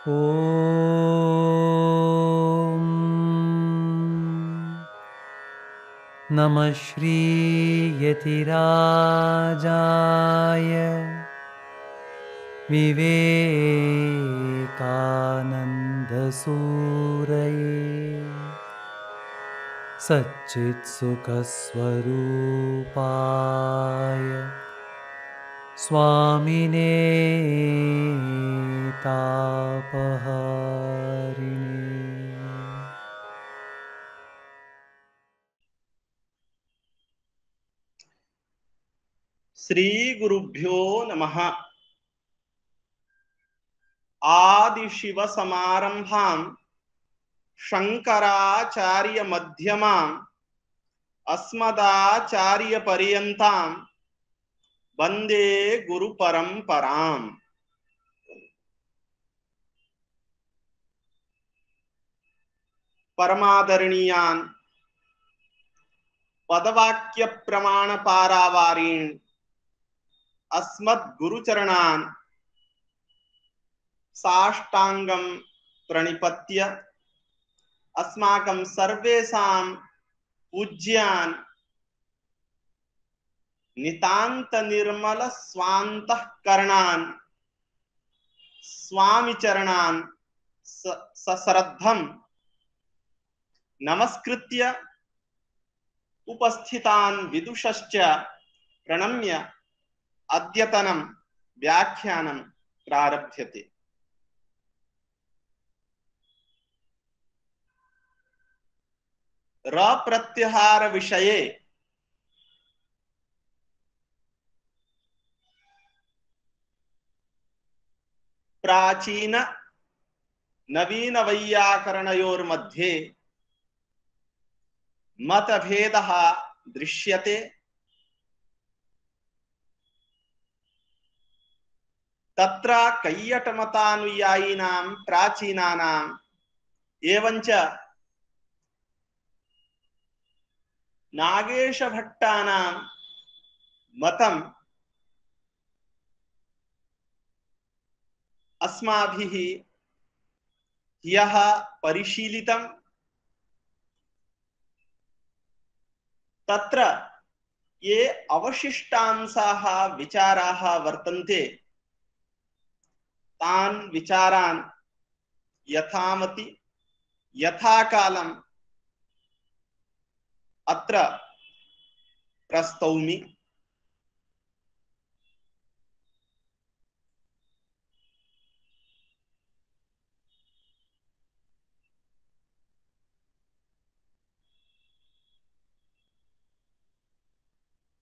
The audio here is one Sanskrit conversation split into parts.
ॐ नमः श्रीयतिराजाय विवेकानन्दसूरये सच्चित्सुखस्वरूपाय स्वामिने तापहारिणे। श्री गुरुभ्यो नमः। आदि शिव समारंभां शंकराचार्य मध्यमां अस्मदाचार्य पर्यन्तां वंदे गुरु परंपराम्। परमादरणीयान् पदवाक्य प्रमाण पारावारीन् अस्मद् गुरुचरणान् साष्टांगं प्रणिपत्य अस्माकं सर्वेषां पूज्यान् नितांत निर्मल स्वान्तःकरणान् स्वामी चरणान् सश्रद्धं नमस्कृत्य उपस्थितान् विदुषश्च प्रणम्य अद्यतनं व्याख्यानं प्रारभ्यते। र प्रत्याहार विषये प्राचीन नवीन वैयाकरणयोर्मध्ये मतभेदः दृश्यते। तत्र कैयटमतानुयायिनां प्राचीनानाम् एवञ्च नागेशभट्टानां मतम् अस्माभिः ह्यः परिशीलितं। तत्र ये अवशिष्टांशाः विचाराः वर्तन्ते तान् विचारान् यथामति यथाकालम् अत्र प्रस्तौमि।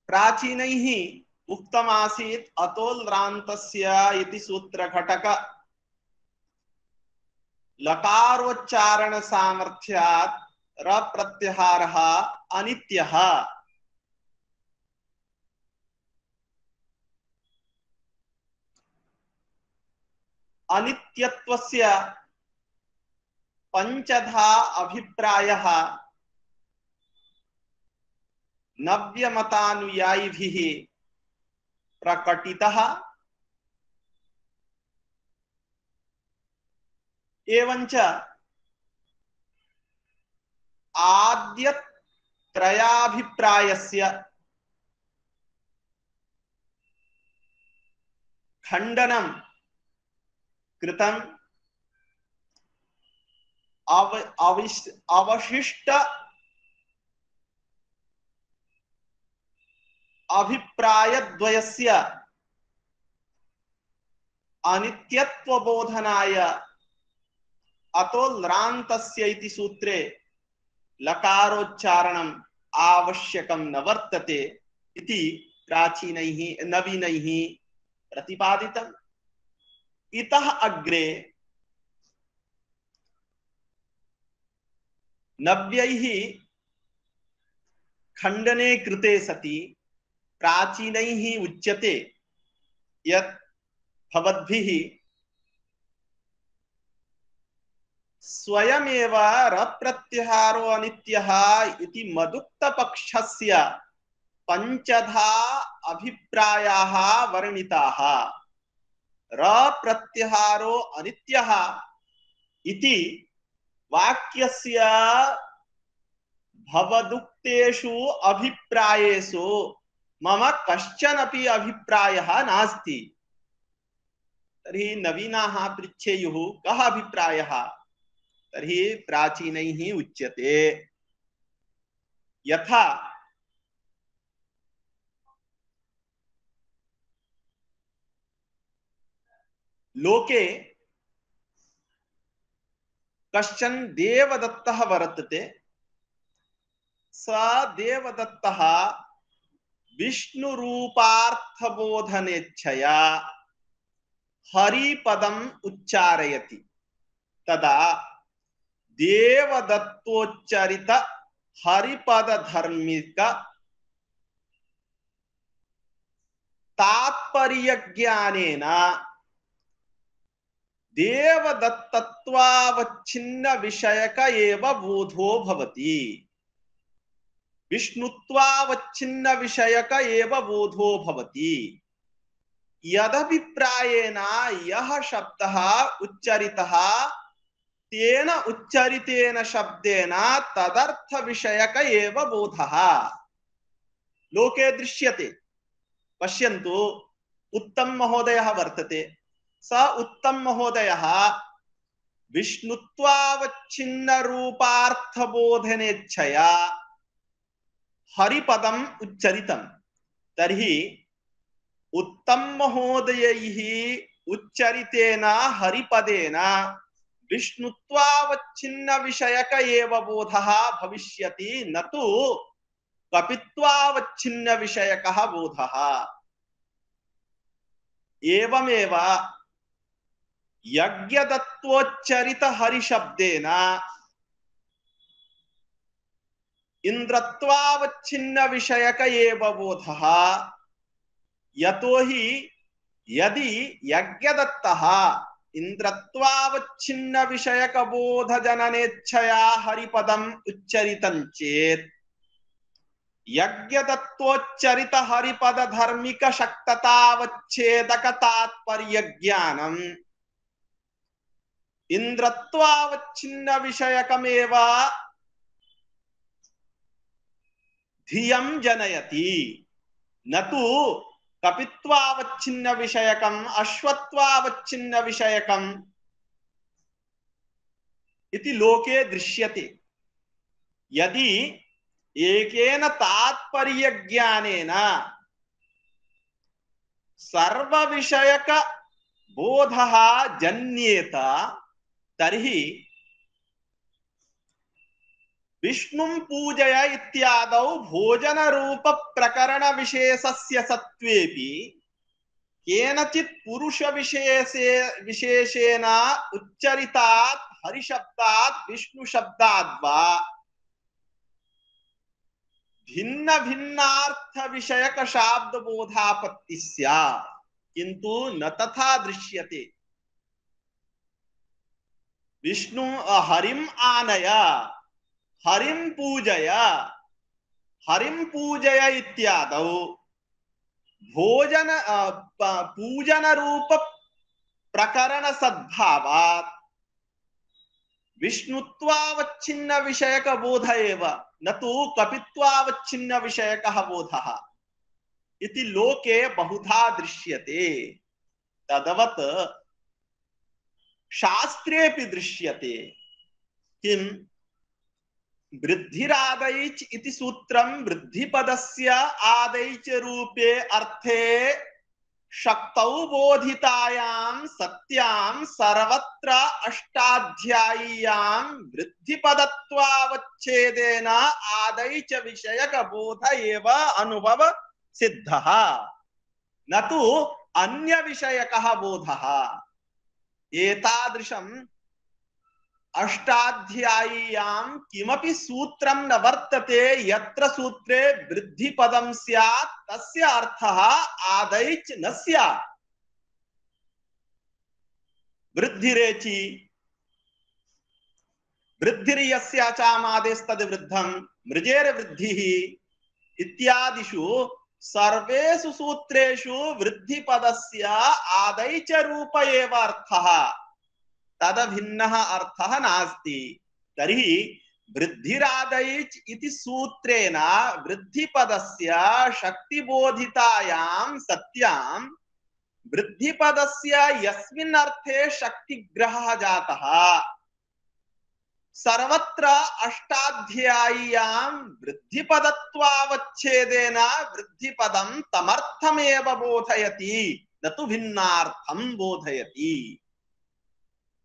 प्राचीनैः उक्तमासीत् अतोल्रान्तस्य इति सूत्रघटक लकारोच्चारण सामर्थ्यात् र प्रत्याहारः अनित्यः। अनित्यत्वस्य पंचधा अभिप्रायः नव्यमतानुयायिभिः प्रकटितः। एवञ्च आद्यत्रयाभिप्रायस्य खण्डनं कृतम्। अवशिष्ट अभिप्रायद्वयस्य अनित्यत्वबोधनाय अतोल्रान्तस्य इति सूत्रे लकारोच्चारणम् आवश्यकं न वर्तते इति प्राचीनैः नवीनैः प्रतिपादितम्। इतः अग्रे नव्यैः खण्डने कृते सति प्राचीनैः उच्यते यत् भवद्भिः स्वयमेव रप्रत्याहारो अनित्यः इति मदुक्तपक्षस्य पंचधा अभिप्रायाः वर्णिताः। रप्रत्याहारो अनित्यः इति वाक्यस्य भवदुक्तेषु अभिप्रायेषु मम कश्चनपि अभिप्रायः नास्ति। तर्हि नवीनाः पृच्छेयुः कः अभिप्रायः? तर्हि प्राचीनैः उच्यते यथा लोके कश्चन देवदत्तः वर्तते। स देवदत्तः विष्णुरूपार्थबोधनेच्छया हरिपदम् उच्चारयति। तदा देवदत्तोच्चरित हरिपदधर्मिक तात्पर्यज्ञानेन देवदत्तत्वावच्छिन्न विषयक एव बोधो भवति। विष्णुत्वावच्छिन्न विषयक एव बोधो भवति। यदभिप्रायेण यः शब्दः उच्चरितः तेन उच्चरितेन शब्देन तदर्थ विषयक एव बोधः लोके दृश्यते। पश्यन्तु, उत्तम महोदयः वर्तते। स उत्तम महोदयः विष्णुत्वावच्छिन्न रूपार्थबोधनेच्छया हरिपदम् उच्चरितं। तर्हि उत्तम महोदयैः उच्चरितेन हरिपदेन विष्णुत्वावच्छिन्न विषयक एव बोधः भविष्यति, न तु कपित्वावच्छिन्न विषयकः बोधः। एवमेव यज्ञदत्तोच्चरित हरिशब्देन इंद्रत्वावच्छिन्न विषयक एव बोधः। यतो हि यदि यज्ञदत्तः इंद्रत्वावच्छिन्न विषयक बोध जननेच्छया हरिपदम् उच्चरितं चेत् यज्ञदत्तोच्चरित हरिपद धर्मिक शक्ततावच्छेदक तात्पर्य ज्ञानम् इंद्रत्वावच्छिन्न विषयकमेव धियं जनयति, न तु कपित्वावच्छिन्न विषयकम् अश्वत्वावच्छिन्न विषयकम् इति लोके दृश्यते। यदि एकेन तात्पर्य ज्ञानेन सर्व विषयक बोधः जन्येत तर्हि विष्णुं पूजय इत्यादौ भोजन रूप प्रकरण विशेषस्य सत्वेपि केनचित् पुरुष विशेषेण उच्चरितात् हरिशब्दात् विष्णु शब्दात् वा भिन्न भिन्नार्थ विषयक शाब्द बोधापत्ति स्यात्, किंतु न तथा दृश्यते। विष्णु हरिम आनय हरिम पूजय इत्यादौ भोजन पूजन रूप प्रकरण सद्भावात् विष्णुत्वावच्छिन्न विषयक बोध एव, न तु कपित्वावच्छिन्न विषयकः बोधः इति लोके बहुधा दृश्यते। तदवत् शास्त्रेऽपि दृश्यते। किं वृद्धिरादैच इति सूत्रं वृद्धिपदस्य आदैच रूपे अर्थे शक्तौ बोधितायां सत्यां सर्वत्र अष्टाध्यायीयां वृद्धिपदत्वावच्छेदेन आदैच विषयक बोध एव अनुभव सिद्धः, न तु अन्य विषयकः बोधः। एतादृशम् अष्टाध्यायीयां किमपि सूत्रं न वर्तते यत्र सूत्रे वृद्धिपदं स्यात् तस्य अर्थः आदैच न स्यात्। वृद्धिरेचि वृद्धिर्यस्याचामादेस्तद् वृद्धं मृजेर वृद्धिः इत्यादिषु सर्वेषु सूत्रेषु वृद्धिपदस्य आदैच रूप एव अर्थः। तदभिन्नः अर्थः नास्ति। तर्हि वृद्धिरादैच् इति सूत्रेण वृद्धिपदस्य शक्तिबोधितायां सत्यां वृद्धिपदस्य यस्मिन् अर्थे शक्तिग्रहः जातः सर्वत्र अष्टाध्याय्यां वृद्धिपदत्वावच्छेदेन वृद्धिपदं तमर्थमेव बोधयति न तु भिन्नार्थं बोधयति।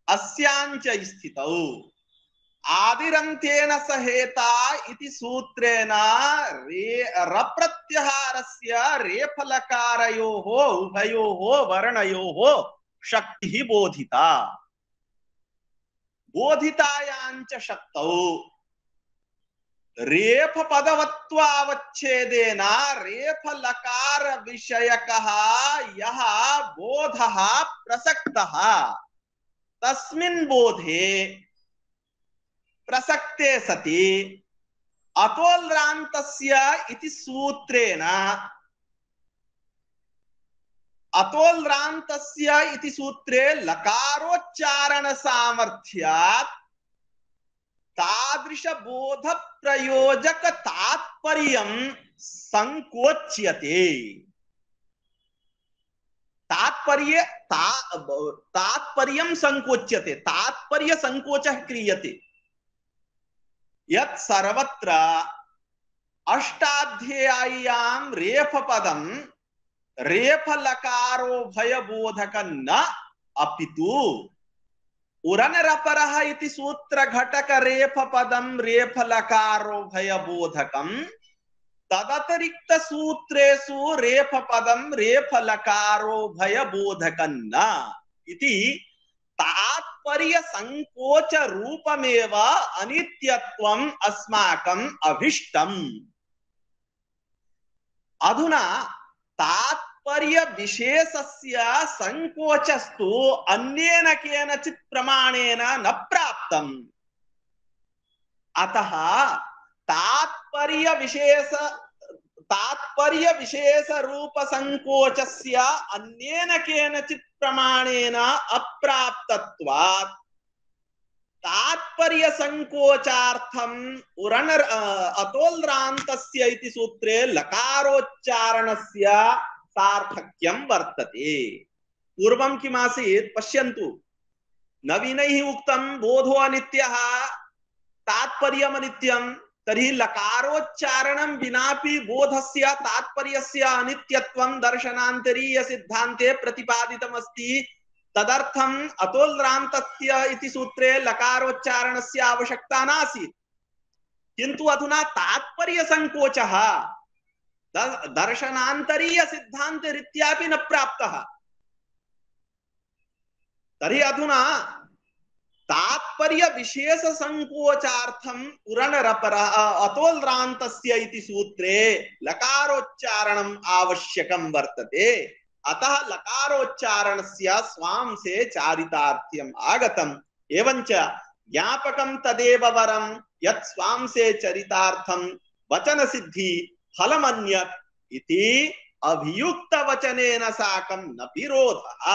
अस्याञ्च स्थितौ आदिरन्त्येन सहेता इति सूत्रेण रप्रत्यहारस्य रेफलकारयोः उभयोः वर्णयोः शक्तिः बोधिता। बोधितायाञ्च शक्तौ रेफपदवत्वावच्छेदेन रेफलकार विषयकः यः बोधः प्रसक्तः तस्मिन् बोधे प्रसक्ते सति अतोल्रान्तस्य इति सूत्रेण अतोल्रान्तस्य इति सूत्रे लकारोच्चारण सामर्थ्यात् तादृश बोध प्रयोजक तात्पर्यं संकोच्यते। तात्पर्यं संकोच्यते, तात्पर्य संकोचः क्रियते। यत् सर्वत्र अष्टाध्याय्यां रेफपदं रेफलकारो भयबोधक न अपितु उरनरपरः इति सूत्र घटक रेफपदं रेफलकारो भयबोधकं तदतिरिक्त सूत्रेषु रेफपदं रेफलकारो भयबोधकं न इति तात्पर्य संकोच रूपमेव अनित्यत्वम् अस्माकम् अभिष्टम्। अधुना तात्पर्य विशेषस्य संकोचस्तु अन्येन केनचित् प्रमाणेन न प्राप्तम्। अतः तात्पर्य विशेष रूप संकोचस्य अन्येन केनचित् प्रमाणेन अप्राप्तत्वात् तात्पर्य संकोचार्थम् अतोल्रान्तस्य इति सूत्रे लकारोच्चारणस्य सार्थक्यं वर्तते। पूर्वं किमासीत् पश्यन्तु, नवीनैः उक्तं बोधो अनित्यः तात्पर्यम् अनित्यं, तर्हि लकारोच्चारणं विनापि बोधस्य तात्पर्यस्य अनित्यत्वं दर्शनान्तरीय सिद्धान्ते प्रतिपादितमस्ति। तदर्थम् अतोल्रान्तस्य इति सूत्रे लकारोच्चारणस्य आवश्यकता नासीत्। किन्तु अधुना तात्पर्य संकोचः दर्शनान्तरीय सिद्धान्तरीत्यापि न प्राप्तः। तर्हि अधुना तात्पर्य विशेष संकोचार्थम् उरनरपरः अतोल्रान्तस्य इति सूत्रे लकारोच्चारणम् आवश्यकं वर्तते। अतः लकारोच्चारणस्य स्वांसे चारितार्थ्यम् आगतम्। एवञ्च ज्ञापकं तदेव वरं यत् स्वांसे चरितार्थं वचन सिद्धि फलमन्यत् इति अभियुक्त वचनेन साकं न विरोधः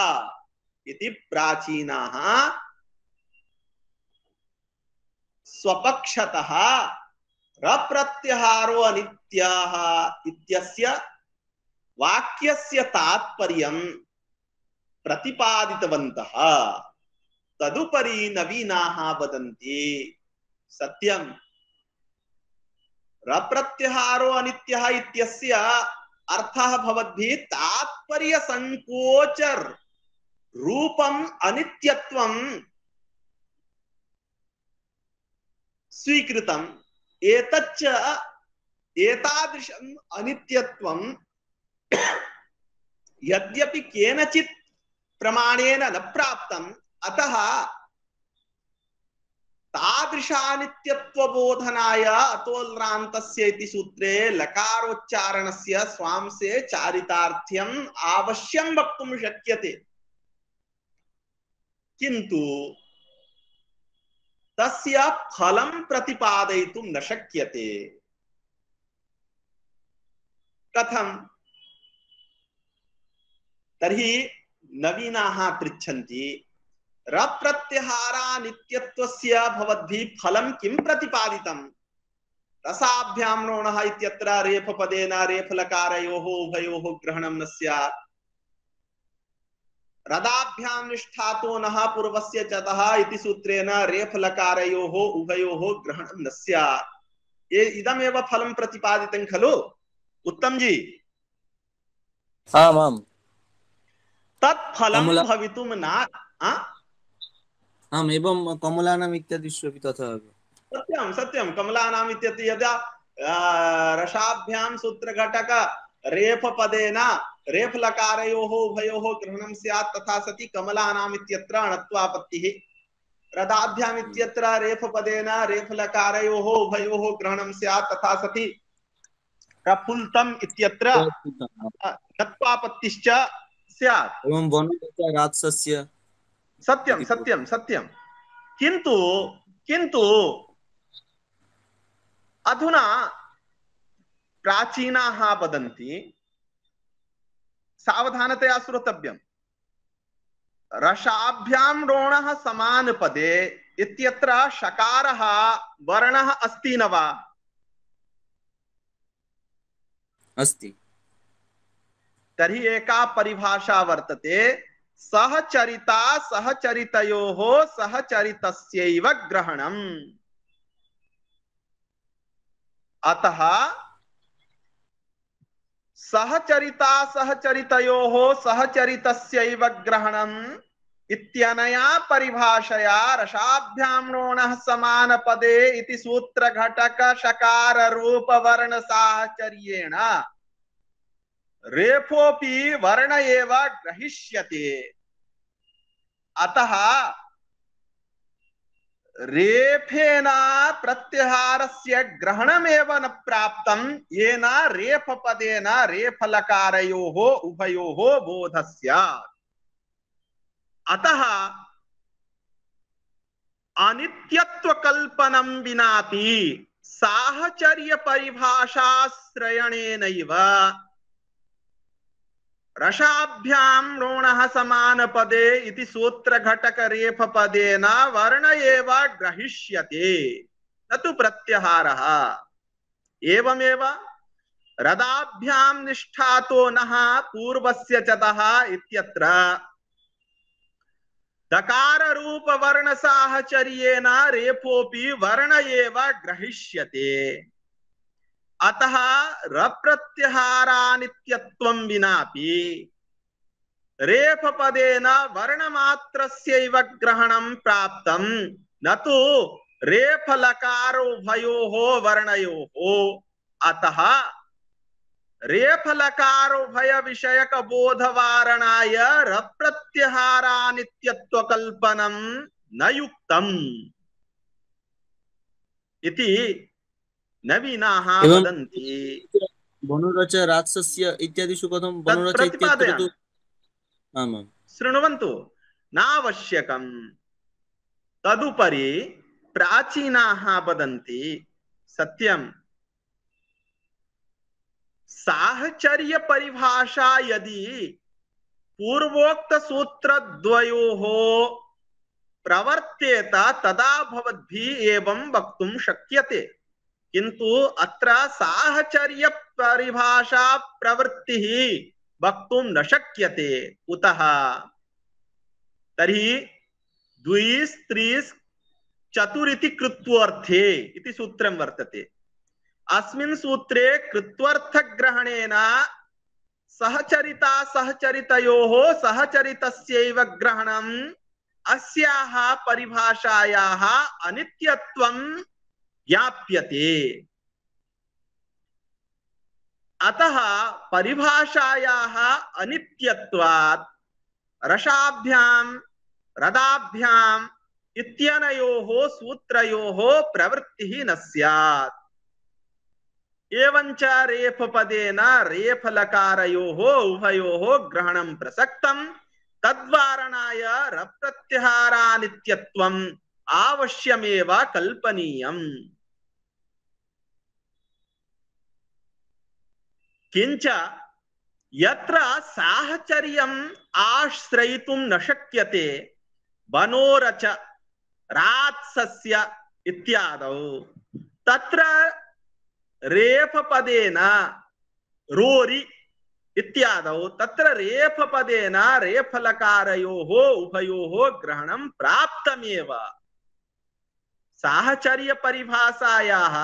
इति प्राचीनाः स्वपक्षतः रप्रत्यहारो अनित्यः इत्यस्य वाक्यस्य तात्पर्यं प्रतिपादितवन्तः। तदुपरि नवीनाः वदन्ति सत्यं रप्रत्यहारो अनित्यः इत्यस्य अर्थः भवद्भिः तात्पर्य संकोच रूपम् अनित्यत्वं स्वीकृतम्। एतच्च एतादृशम् अनित्यत्वं यद्यपि केनचित् प्रमाणेन न प्राप्तम्, अतः तादृशानित्यत्वबोधनाय अतोल्रान्तस्य इति सूत्रे लकारोच्चारणस्य स्वांसे चारितार्थ्यम् आवश्यं वक्तुं शक्यते। किन्तु तस्य फलं प्रतिपादयितुं न शक्यते। कथं? तर्हि नवीनाः पृच्छन्ति रप्रत्यहारानित्यत्वस्य भवद्भिः फलं किं प्रतिपादितम्? रसाभ्यां नोणः इत्यत्र रेफपदेन रेफलकारयोः उभयोः ग्रहणं न स्यात्। रदाभ्यां निष्ठातो नः पूर्वस्य चतः इति सूत्रेण रेफलकारयोः उभयोः ग्रहणं न स्यात्। इदमेव फलं प्रतिपादितं खलु उत्तम जी? आम् आम्। तत्फलं कमला भवितुं न आम् एवं कमलानाम् इत्यादिषु अपि तथा एव। सत्यं सत्यं कमलानाम् इत्यत्र यदा रसाभ्यां सूत्रघटक रेफपदेन रेफलकारयोः उभयोः ग्रहणं स्यात् तथा सति कमलानाम् इत्यत्र अणत्वापत्तिः। रदाभ्याम् इत्यत्र रेफपदेन रेफलकारयोः उभयोः ग्रहणं स्यात् तथा सति प्रफुल्लम् इत्यत्र णत्वापत्तिश्च स्यात्। एवं वनराजस्य सत्यं सत्यं सत्यं। किन्तु किन्तु अधुना प्राचीनाः वदन्ति, सावधानतया श्रोतव्यम्, रसाभ्यां रोणः समानपदे इत्यत्र शकारः वर्णः अस्ति न वा? अस्ति। तर्हि एका परिभाषा वर्तते, सहचरिता सहचरितयोः सहचरितस्यैव ग्रहणम्। अतः सहचरिता सहचरितयोः सहचरितस्यैव ग्रहणम् इत्यनया परिभाषया रसाभ्यां नोणः समानपदे इति सूत्रघटक शकार रूप वर्ण साहचर्येण रेफोपि वर्ण एव ग्रहिष्यते। अतः रेफेन प्रत्याहारस्य ग्रहणमेव न प्राप्तं येन रेफपदेन रेफलकारयोः उभयोः बोधः स्यात्। अतः अनित्यत्वकल्पनं विनापि साहचर्य परिभाषाश्रयणेनैव रसाभ्यां रोणः समानपदे इति सूत्रघटक रेफपदेन वर्ण एव ग्रहिष्यते न तु प्रत्याहारः। एवमेव रदाभ्यां निष्ठातो नः पूर्वस्य चतः इत्यत्र दकार रूप वर्ण साहचर्येण रेफोपि वर्ण एव ग्रहिष्यते। अतः रप्रत्याहारानित्यत्वं विनापि रेफपदेन वर्णमात्रस्यैव ग्रहणं प्राप्तं न तु रेफलकारोभयोः वर्णयोः। अतः रेफलकारोभय विषयक बोधवारणाय रप्रत्याहारानित्यत्वकल्पनं न युक्तम् इति नवीनाः वदन्ति। वनुरच राजस्य इत्यादिषु कथं वनुरच इत्यत्र तु आम् आम् शृण्वन्तु, नावश्यकम्। तदुपरि प्राचीनाः वदन्ति, सत्यं साहचर्य परिभाषा यदि पूर्वोक्त सूत्रद्वयोः प्रवर्तेत तदा भवद्भिः एवं वक्तुं शक्यते। किन्तु अत्र साहचर्य परिभाषा प्रवृत्तिः वक्तुं न शक्यते। कुतः? तर्हि द्विस् त्रिस् चतुरिति कृत्वोऽर्थे इति सूत्रं वर्तते। अस्मिन् सूत्रे कृत्वर्थग्रहणेन सहचरिता सहचरितयोः सहचरितस्यैव ग्रहणम् अस्याः परिभाषायाः अनित्यत्वं ज्ञाप्यते। अतः परिभाषायाः अनित्यत्वात् रसाभ्यां रदाभ्याम् इत्यनयोः सूत्रयोः प्रवृत्तिः न स्यात्। एवञ्च रेफपदेन रेफलकारयोः उभयोः ग्रहणं प्रसक्तं तद्वारणाय रप्रत्याहारानित्यत्वम् आवश्यमेव कल्पनीयम्। किंच यत्र साहचर्यम् आश्रयितुं न शक्यते वनोरच रात्सस्य इत्यादौ तत्र रेफपदेन रोरि इत्यादौ तत्र रेफपदेन रेफलकारयोः उभयोः ग्रहणं प्राप्तमेव। साहचर्य परिभाषायाः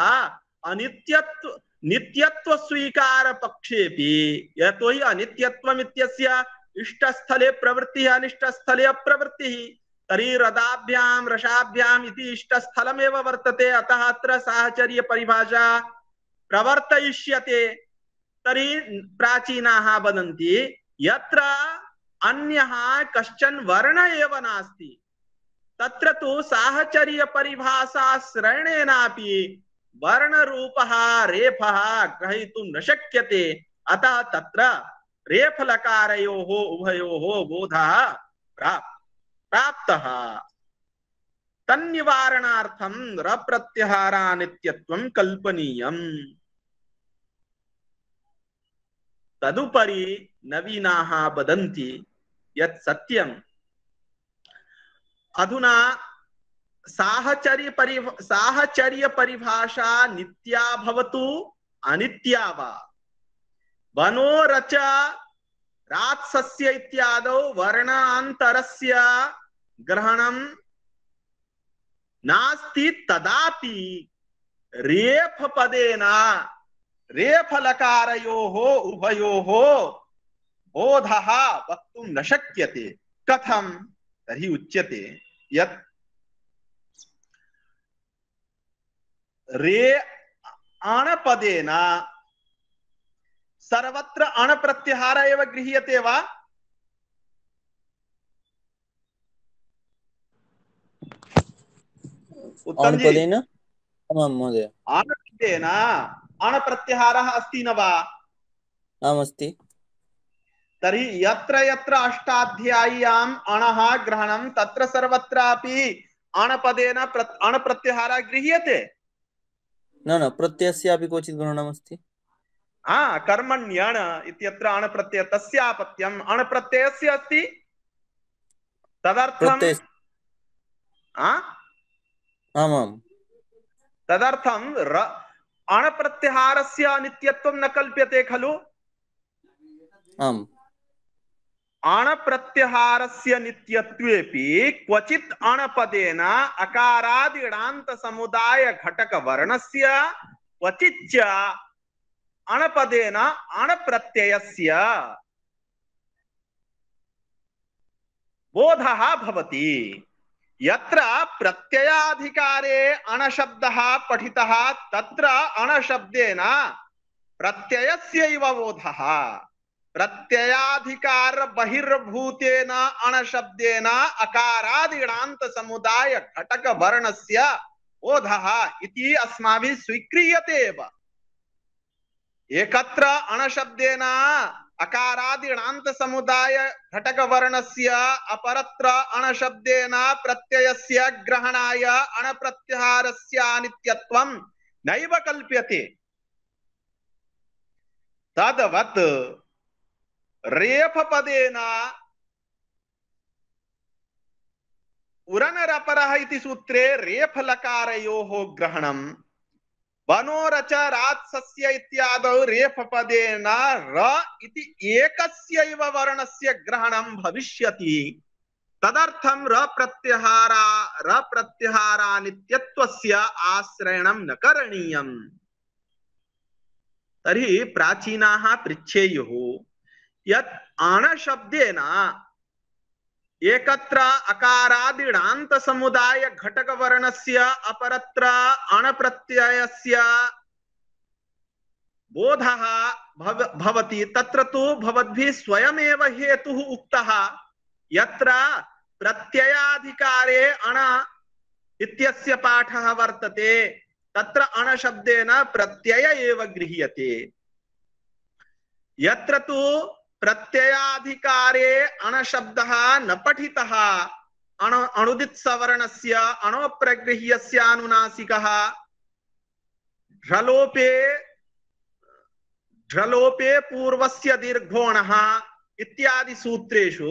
अनित्यत्व नित्यत्व स्वीकार पक्षेपि यतो हि अनित्यत्वम् इत्यस्य इष्टस्थले प्रवृत्तिः अनिष्टस्थले अप्रवृत्तिः तर्हि रदाभ्यां रसाभ्याम् इति इष्टस्थलमेव वर्तते अतः अत्र साहचर्य परिभाषा प्रवर्तयिष्यते। तर्हि प्राचीनाः वदन्ति यत्र अन्यः कश्चन वर्ण एव नास्ति तत्र तु साहचर्य परिभाषाश्रयणेनापि वर्णरूपः रेफः ग्रहीतुं न शक्यते। अतः तत्र रेफलकारयोः उभयोः बोधः प्राप्तः। तन्निवारणार्थं रप्रत्याहारानित्यत्वं कल्पनीयम्। तदुपरि नवीनाः वदन्ति यत् सत्यम् अधुना साहचर्य परिभाषा नित्या भवतु अनित्या वा वनोरच रात्सस्य इत्यादौ वर्णान्तरस्य ग्रहणं नास्ति तदापि रेफपदेन रेफलकारयोः उभयोः बोधः वक्तुं न शक्यते। कथं? तर्हि उच्यते यत् रे अणपदेन सर्वत्र अणप्रत्याहार एव गृह्यते वा? अणपदेन आमां महोदय अणपदेन अणप्रत्याहारः अस्ति न वा? आम् अस्ति। तर्हि यत्र यत्र अष्टाध्याय्याम् अणः ग्रहणं तत्र सर्वत्रापि अणपदेन अणप्रत्याहारः गृह्यते। न प्रत्ययस्यापि क्वचित् ग्रहणमस्ति। कर्मण्यण इत्यत्र अणप्रत्यय तस्यापत्यम् अणप्रत्ययस्य अस्ति तदर्थं आमाम् तदर्थं अणप्रत्याहारस्य अनित्यत्वं न कल्प्यते खलु? आम् अणप्रत्याहारस्य नित्यत्वेपि क्वचित् अणपदेन अकारादिणान्त समुदाय घटक वर्णस्य क्वचिच्च अणपदेन अणप्रत्ययस्य बोधः भवति। यत्र प्रत्ययाधिकारे अणशब्दः पठितः तत्र अणशब्देन प्रत्ययस्यैव बोधः। प्रत्ययाधिकार बहिर्भूतेन अणशब्देन अकारादिणान्त समुदाय घटक वर्णस्य बोधः इति अस्माभिः स्वीक्रियते एव। एकत्र अणशब्देन अकारादिणान्त समुदाय घटक वर्णस्य अपरत्र अणशब्देन प्रत्ययस्य ग्रहणाय अणप्रत्याहारस्य अनित्यत्वं नैव कल्प्यते। तद्वत् रेफपदेन उरनरपरः इति सूत्रे रेफलकारयोः ग्रहणं वनोरच रात्सस्य इत्यादौ रेफपदेन र इति एकस्यैव वर्णस्य ग्रहणं भविष्यति। तदर्थं रप्रत्याहारानित्यत्वस्य आश्रयणं न करणीयम्। तर्हि प्राचीनाः पृच्छेयुः यत् अणशब्देन एकत्र अकारादिणान्त समुदाय घटक वर्णस्य अपरत्र अणप्रत्ययस्य बोधः भवति तत्र तु भवद्भिः स्वयमेव हेतुः उक्तः यत्र प्रत्ययाधिकारे अण इत्यस्य पाठः वर्तते तत्र अणशब्देन प्रत्यय एव गृह्यते। यत्र तु प्रत्ययाधिकारे अणशब्दः न पठितः अणुदित सवर्णस्य अणोप्रगृह्यस्य अनुनासिकः ढ्रलोपे पूर्वस्य दीर्घोणः इत्यादि सूत्रेषु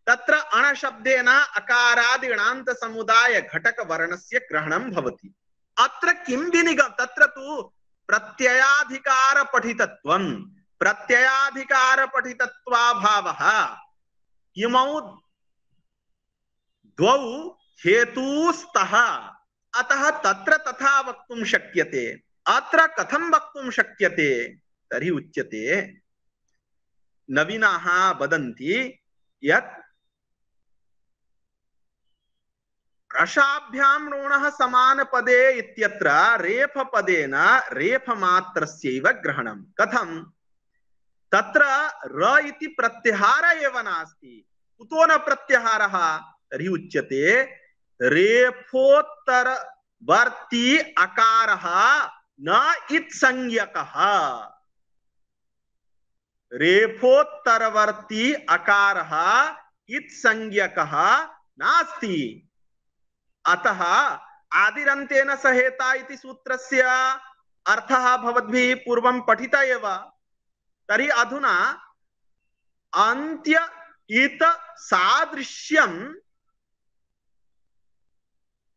तत्र अणशब्देन अकारादिगणान्त समुदाय घटक वर्णस्य ग्रहणं भवति। अत्र किं विनिगम, तत्र तु प्रत्ययाधिकार पठितत्वं, प्रत्ययाधिकार पठितत्वाभावः इमौ द्वौ हेतुस्तः, अतः तत्र तथा वक्तुं शक्यते। अत्र कथं वक्तुं शक्यते तर्हि उच्यते, नवीनाः वदन्ति यत् रसाभ्यां ऋणः समानपदे इत्यत्र रेफपदेन रेफमात्रस्यैव ग्रहणं। कथं? तत्र र इति प्रत्याहार एव नास्ति। कुतो न प्रत्याहारः तर्हि उच्यते रेफोत्तरवर्ती अकारः न इत्संज्ञकः। रेफोत्तरवर्ती अकारः इत्संज्ञकः नास्ति। अतः आदिरन्तेन सहेता इति सूत्रस्य अर्थः भवद्भिः पूर्वं पठित एव। तर्हि अधुना अन्त्य इत सादृश्यं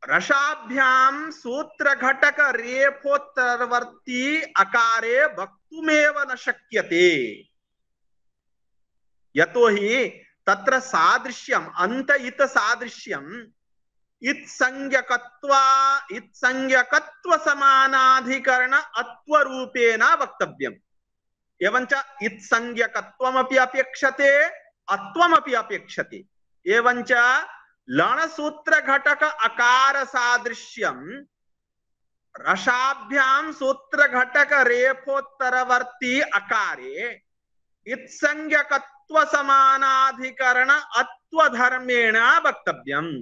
रसाभ्यां सूत्रघटक रेफोत्तरवर्ती अकारे वक्तुमेव न शक्यते। यतोहि तत्र सादृश्यम् अन्त इत सादृश्यं इत्संज्ञकत्व समानाधिकरण अत्वरूपेण वक्तव्यम्। एवञ्च इत्संज्ञकत्वमपि अपेक्षते अत्वमपि अपेक्षते। एवञ्च लणसूत्र घटक अकार सादृश्यं रसाभ्यां सूत्र घटक रेफोत्तरवर्ती अकारे इत्संज्ञकत्व समानाधिकरण अत्वधर्मेण वक्तव्यम्।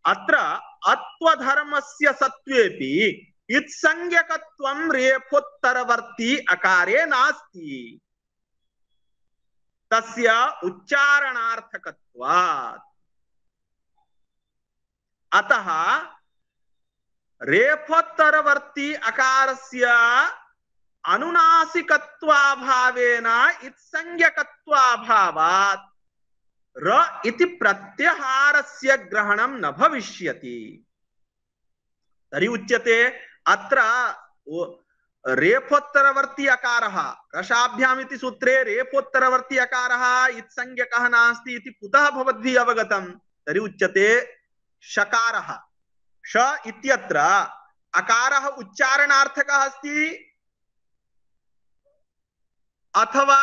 अत्र अत्वधर्मस्य सत्वेपि इत्संज्ञकत्वं रेफोत्तरवर्ती अकारे नास्ति। तस्य उच्चारणार्थकत्वात्। अतः रेफोत्तरवर्ती अकारस्य अनुनासिकत्वाभावेन इत्संज्ञकत्वाभावात् र इति प्रत्याहारस्य ग्रहणं न भविष्यति। तर्हि उच्यते अत्र रेफोत्तरवर्ती अकारः रसाभ्याम् इति सूत्रे रेफोत्तरवर्ती अकारः इत्संज्ञकः नास्ति इति कुतः भवद्भिः अवगतं? तर्हि उच्यते शकारः श इत्यत्र अकारः उच्चारणार्थकः अस्ति अथवा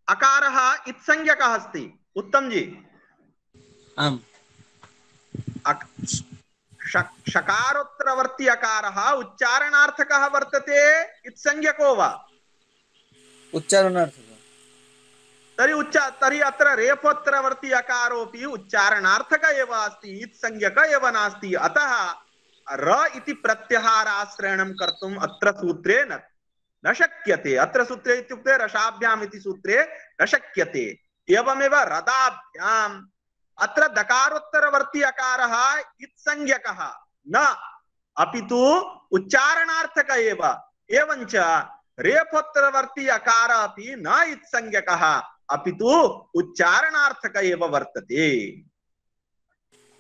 अकारः इत्संज्ञकः अस्ति? उत्तम जी। आम्। शकारोत्तरवर्ती अकारः उच्चारणार्थकः वर्तते इत्संज्ञको वा? उच्चारणार्थकः। तर्हि अत्र रेफोत्तरवर्ती अकारोऽपि उच्चारणार्थक एव अस्ति, इत्संज्ञक एव नास्ति। अतः र इति प्रत्याहाराश्रयणं कर्तुम् अत्र सूत्रे न शक्यते। अत्र सूत्रे इत्युक्ते रसाभ्याम् इति सूत्रे न शक्यते। एवमेव रदाभ्याम् अत्र दकारोत्तरवर्ती अकारः इत्संज्ञकः न, अपितु उच्चारणार्थक एव। एवञ्च रेफोत्तरवर्ती अकार अपि न इत्संज्ञकः अपितु उच्चारणार्थक एव वर्तते।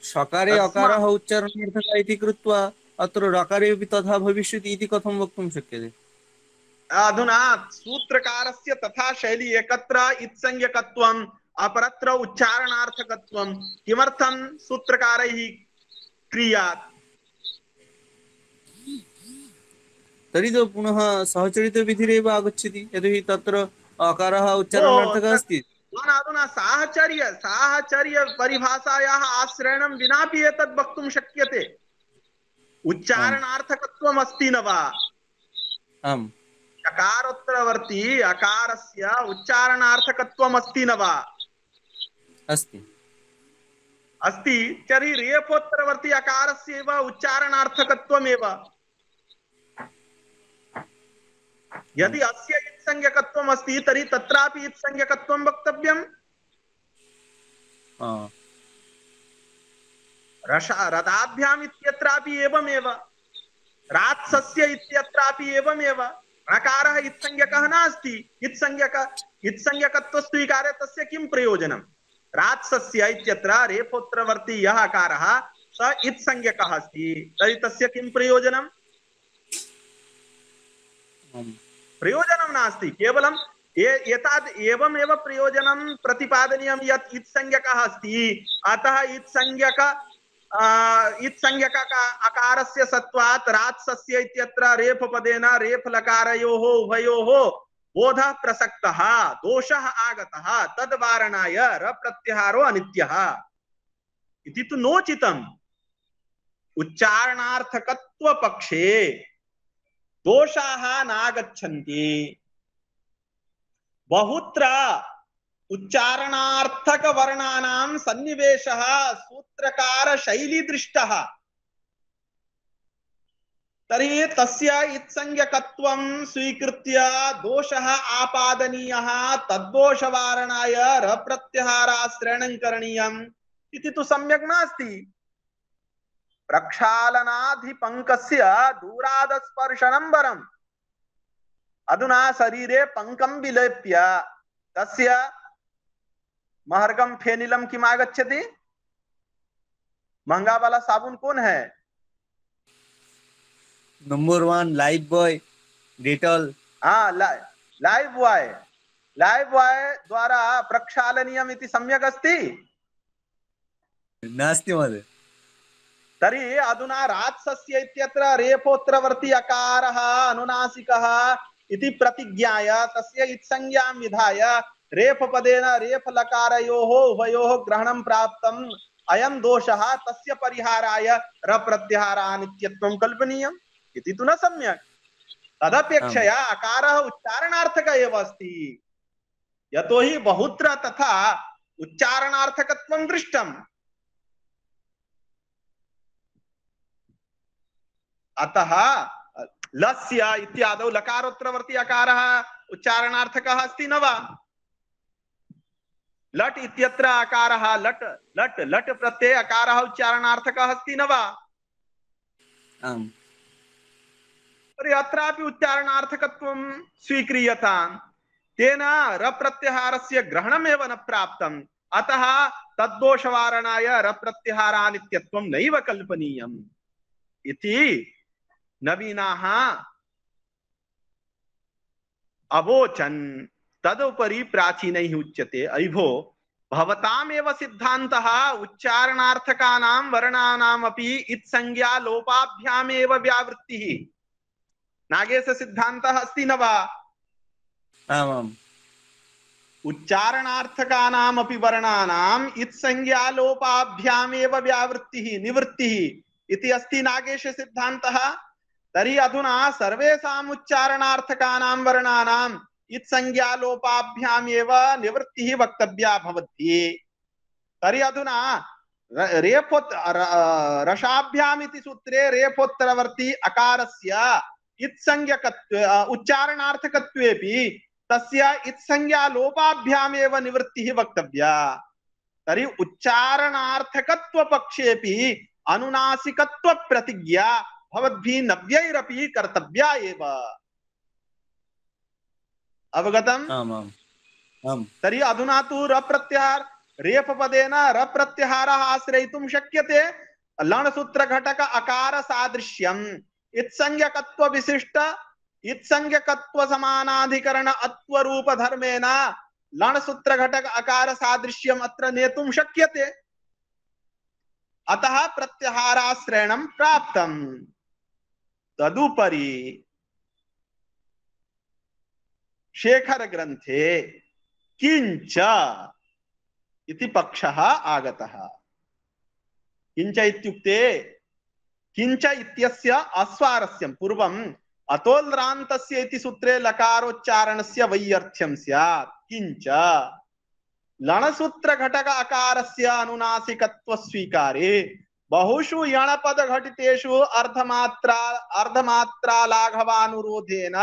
शकारे अकारः उच्चारणार्थकः इति कृत्वा अत्र रकारे अपि तथा भविष्यति इति कथं वक्तुं शक्यते? अधुना सूत्रकारस्य तथा शैली एकत्र इत्संज्ञकत्वम् अपरत्र उच्चारणार्थकत्वं किमर्थं सूत्रकारैः क्रियात्? तर्हि तो पुनः सहचरितविधिरेव आगच्छति, यतोहि तत्र अकारः उच्चारणार्थकः अस्ति। अधुना साहचर्य परिभाषायाः आश्रयणं विनापि एतद् वक्तुं शक्यते। उच्चारणार्थकत्वम् अस्ति न वा? आम्। शकारोत्तरवर्ती अकारस्य उच्चारणार्थकत्वम् अस्ति न वा? अस्ति। अस्ति। तर्हि रेफोत्तरवर्ती अकारस्य एव उच्चारणार्थकत्वमेव। यदि अस्य इत्संज्ञकत्वम् अस्ति तर्हि तत्रापि इत्संज्ञकत्वं वक्तव्यम्। रदाभ्याम् इत्यत्रापि एवमेव, रात्सस्य इत्यत्रापि एवमेव। णकारः इत्संज्ञकः नास्ति। इत्संज्ञकत्व स्वीकारे तस्य किं प्रयोजनम्? रात्सस्य इत्यत्र रेफोत्तरवर्ती यः अकारः स इत्संज्ञकः अस्ति तर्हि तस्य किं प्रयोजनं? प्रयोजनं नास्ति, केवलं एताद् एवमेव प्रयोजनं प्रतिपादनीयं यत् इत्संज्ञकः अस्ति, अतः इत्संज्ञक अकारस्य सत्वात् रात्सस्य इत्यत्र रेफपदेन रेफलकारयोः उभयोः बोधः प्रसक्तः, दोषः आगतः, तद्वारणाय रप्रत्याहारो अनित्यः इति तु नोचितम्। उच्चारणार्थकत्व पक्षे दोषाः नागच्छन्ति। बहुत्र उच्चारणार्थक वर्णानां सन्निवेशः सूत्रकार शैली दृष्टः, तर्हि तस्य इत्संज्ञकत्वं स्वीकृत्य दोषः आपादनीयः, तद्दोषवारणाय रप्रत्याहाराश्रयणं करणीयम् इति तु सम्यक् नास्ति। प्रक्षालनाधिपङ्कस्य दूरादस्पर्शनं वरम्। अधुना शरीरे पंकं विलेप्य तस्य महर्गम फेनिलम किम आगच्छति? महंगा वाला साबुन कौन है? Number 1 Lifebuoy Dettol. हाँ, लाइफ बॉय द्वारा प्रक्षालनीयम् इति सम्यक् अस्ति? नास्ति महोदय। तर्हि अधुना रात्सस्य इत्यत्र रेफोत्तरवर्ती अकारः अनुनासिकः इति प्रतिज्ञाय तस्य इत्संज्ञां विधाय रेफपदेन रेफलकारयोः उभयोः ग्रहणं प्राप्तम् अयं दोषः, तस्य परिहाराय रप्रत्याहारानित्यत्वं कल्पनीयम् इति तु न सम्यक्। तदपेक्षया अकारः उच्चारणार्थक एव अस्ति, यतोहि बहुत्र तथा उच्चारणार्थकत्वं दृष्टम्। अतः लस्य इत्यादौ लकारोत्तरवर्ती अकारः उच्चारणार्थकः अस्ति न वा? लट् इत्यत्र अकारः लट् लट् लट् प्रत्यय अकारः उच्चारणार्थकः अस्ति न वा? आम्। तर्हि अत्रापि उच्चारणार्थकत्वं स्वीक्रियताम्, तेन रप्रत्याहारस्य ग्रहणमेव न प्राप्तम्, अतः तद्दोषवारणाय रप्रत्याहारानित्यत्वं नैव कल्पनीयम् इति नवीनाः अवोचन्। तदुपरि प्राचीनैः उच्यते, अयिभो भवतामेव सिद्धान्तः उच्चारणार्थकानां वर्णानामपि इत्संज्ञा लोपाभ्यामेव व्यावृत्तिः। नागेश सिद्धान्तः अस्ति न वा? आमाम्। उच्चारणार्थकानामपि वर्णानाम् इत्संज्ञा लोपाभ्यामेव व्यावृत्तिः निवृत्तिः इति अस्ति नागेश सिद्धान्तः। तर्हि अधुना सर्वेषाम् उच्चारणार्थकानां वर्णानाम् इत्संज्ञा लोपाभ्यामेव निवृत्तिः वक्तव्या भवति। तर्हि अधुना रसाभ्याम् इति सूत्रे रेफोत्तरवर्ती अकारस्य इत्संज्ञकत्वे उच्चारणार्थकत्वेपि तस्य इत्संज्ञा लोपाभ्यामेव निवृत्तिः वक्तव्या। तर्हि उच्चारणार्थकत्व पक्षेपि अनुनासिकत्व प्रतिज्ञा भवद्भिः नव्यैरपि कर्तव्या एव। अवगतम्? आमाम्। आम्। तर्हि अधुना तु रप्रत्याहार रेफपदेन रप्रत्याहारः आश्रयितुं शक्यते। लणसूत्रघटक अकार सादृश्यम् इत्संज्ञकत्व विशिष्ट इत्संज्ञकत्व समानाधिकरण अत्वरूप धर्मेण लणसूत्रघटक अकार सादृश्यम् अत्र नेतुं शक्यते, अतः प्रत्याहाराश्रयणं प्राप्तम्। तदुपरि शेखर ग्रंथे किंच इति पक्षः आगतः। किंच इत्युक्ते किंच इत्यस्य अस्वारस्यं पूर्वम् अतोल्रान्तस्य इति सूत्रे लकारोच्चारणस्य वैयर्थ्यं स्यात्। किंच लणसूत्र घटक अकारस्य अनुनासिकत्व स्वीकारे बहुषु यणपद घटितेषु अर्धमात्रा लाघवानुरोधेन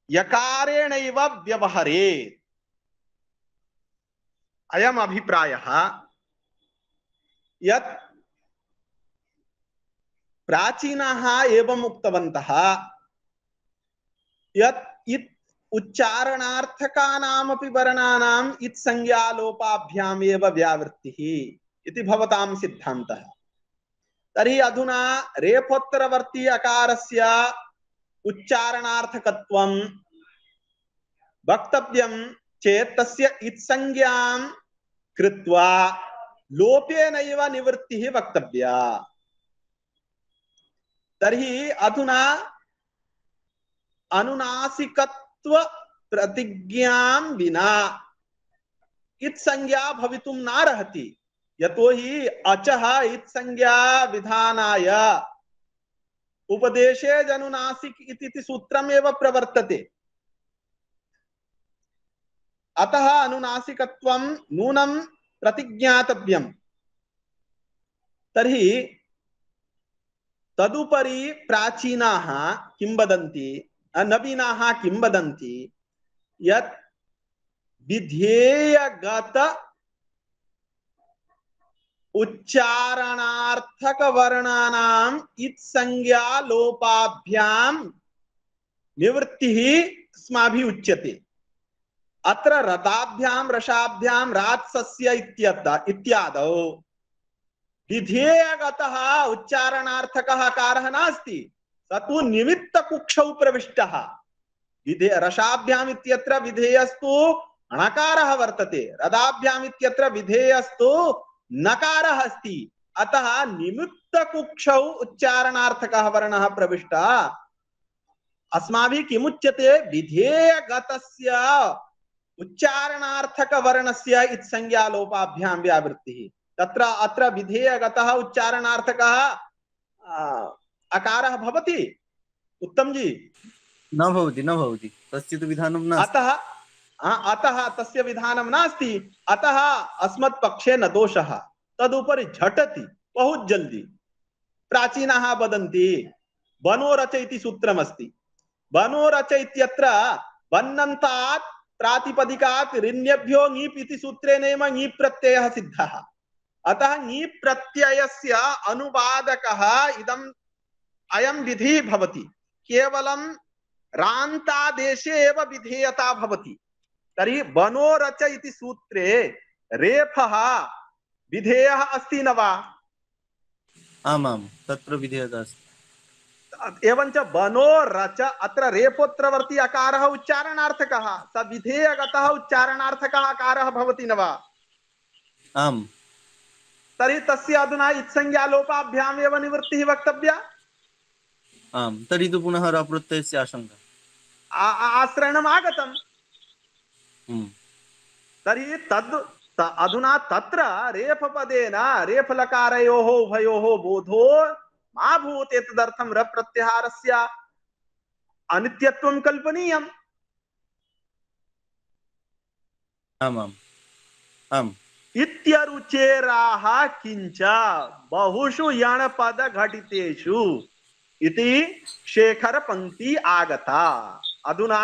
यकारेणैव व्यवहरेत्। अयम् अभिप्रायः यत् प्राचीनाः एवम् उक्तवन्तः यत् उच्चारणार्थकानामपि वर्णानाम् इत्संज्ञालोपाभ्यामेव व्यावृत्तिः इति भवतां सिद्धान्तः। तर्हि अधुना रेफोत्तरवर्ती अकारस्य उच्चारणार्थकत्वं वक्तव्यं चेत् तस्य इत्संज्ञां कृत्वा लोपेनैव निवृत्तिः वक्तव्या। तर्हि अधुना अनुनासिकत्व प्रतिज्ञां विना इत्संज्ञा भवितुं नार्हति। यतोहि अचः इत्संज्ञा विधानाय उपदेशे जनुनासिक इति सूत्रमेव प्रवर्तते। अतः अनुनासिकत्वं नूनं प्रतिज्ञातव्यम्। तर्हि तदुपरि प्राचीनाः किं वदन्ति, नवीनाः किं वदन्ति, यत् विधेयगत उच्चारणार्थक वर्णानाम् इत्संज्ञा लोपाभ्याम निवृत्तिः अस्माभिः उच्यते। अत्र रदाभ्याम रसाभ्याम रात्सस्य इत्यादौ विधेयगतः उच्चारणार्थकः अकारः नास्ति, स तु निमित्तकुक्षौ प्रविष्टः। रसाभ्याम इत्यत्र विधेयस्तु णकारः वर्तते, रदाभ्याम इत्यत्र विधेयस्तु नकारः अस्ति। अतः निमित्तकुक्षौ उच्चारणार्थकः वर्णः प्रविष्टः। अस्माभिः किमुच्यते, विधेयगतस्य उच्चारणार्थक वर्णस्य इत्संज्ञा लोपाभ्यां व्यावृत्तिः। तत्र अत्र विधेयगतः उच्चारणार्थकः अकारः भवति उत्तम जी? न भवति तस्य तु विधानं नास्ति। अतः तस्य विधानं नास्ति। अतः अस्मत् पक्षे न दोषः, तदुपरि झटति बहुत जल्दी। प्राचीनाः वदन्ति बनोरच इति सूत्रमस्ति। बनोरच इत्यत्र बन्नन्तात् प्रातिपदिकात् ऋण्यभ्यो ङीप् इति सूत्रेणैव ङीप् प्रत्ययः सिद्धः। अतः ङीप् प्रत्ययस्य अनुवादकः इदम् अयं विधिः भवति। केवलं रान्तादेशे एव विधेयता भवति। तर्हि बनोरच इति सूत्रे रेफः विधेयः अस्ति न वा? आमां तत्र विधेयता अस्ति। एवञ्च बनोरच अत्र रेफोत्तरवर्ती अकारः उच्चारणार्थकः, स विधेयगतः उच्चारणार्थकः अकारः भवति न वा? आम्। तर्हि तस्य अधुना इत्संज्ञा लोपाभ्याम् एव निवृत्तिः वक्तव्या। आम्, तर्हि तु पुनः रप्रत्ययस्य आशंका आश्रयणम् आगतम्। तर्हि अधुना तत्र रेफपदेन रेफलकारयोः उभयोः बोधो मा भूत्। एतदर्थं रप्रत्याहारस्य अनित्यत्वं कल्पनीयम्। इत्यरुचेराः किंच बहुषु यणपद घटितेषु इति शेखर पंक्ति आगता। अधुना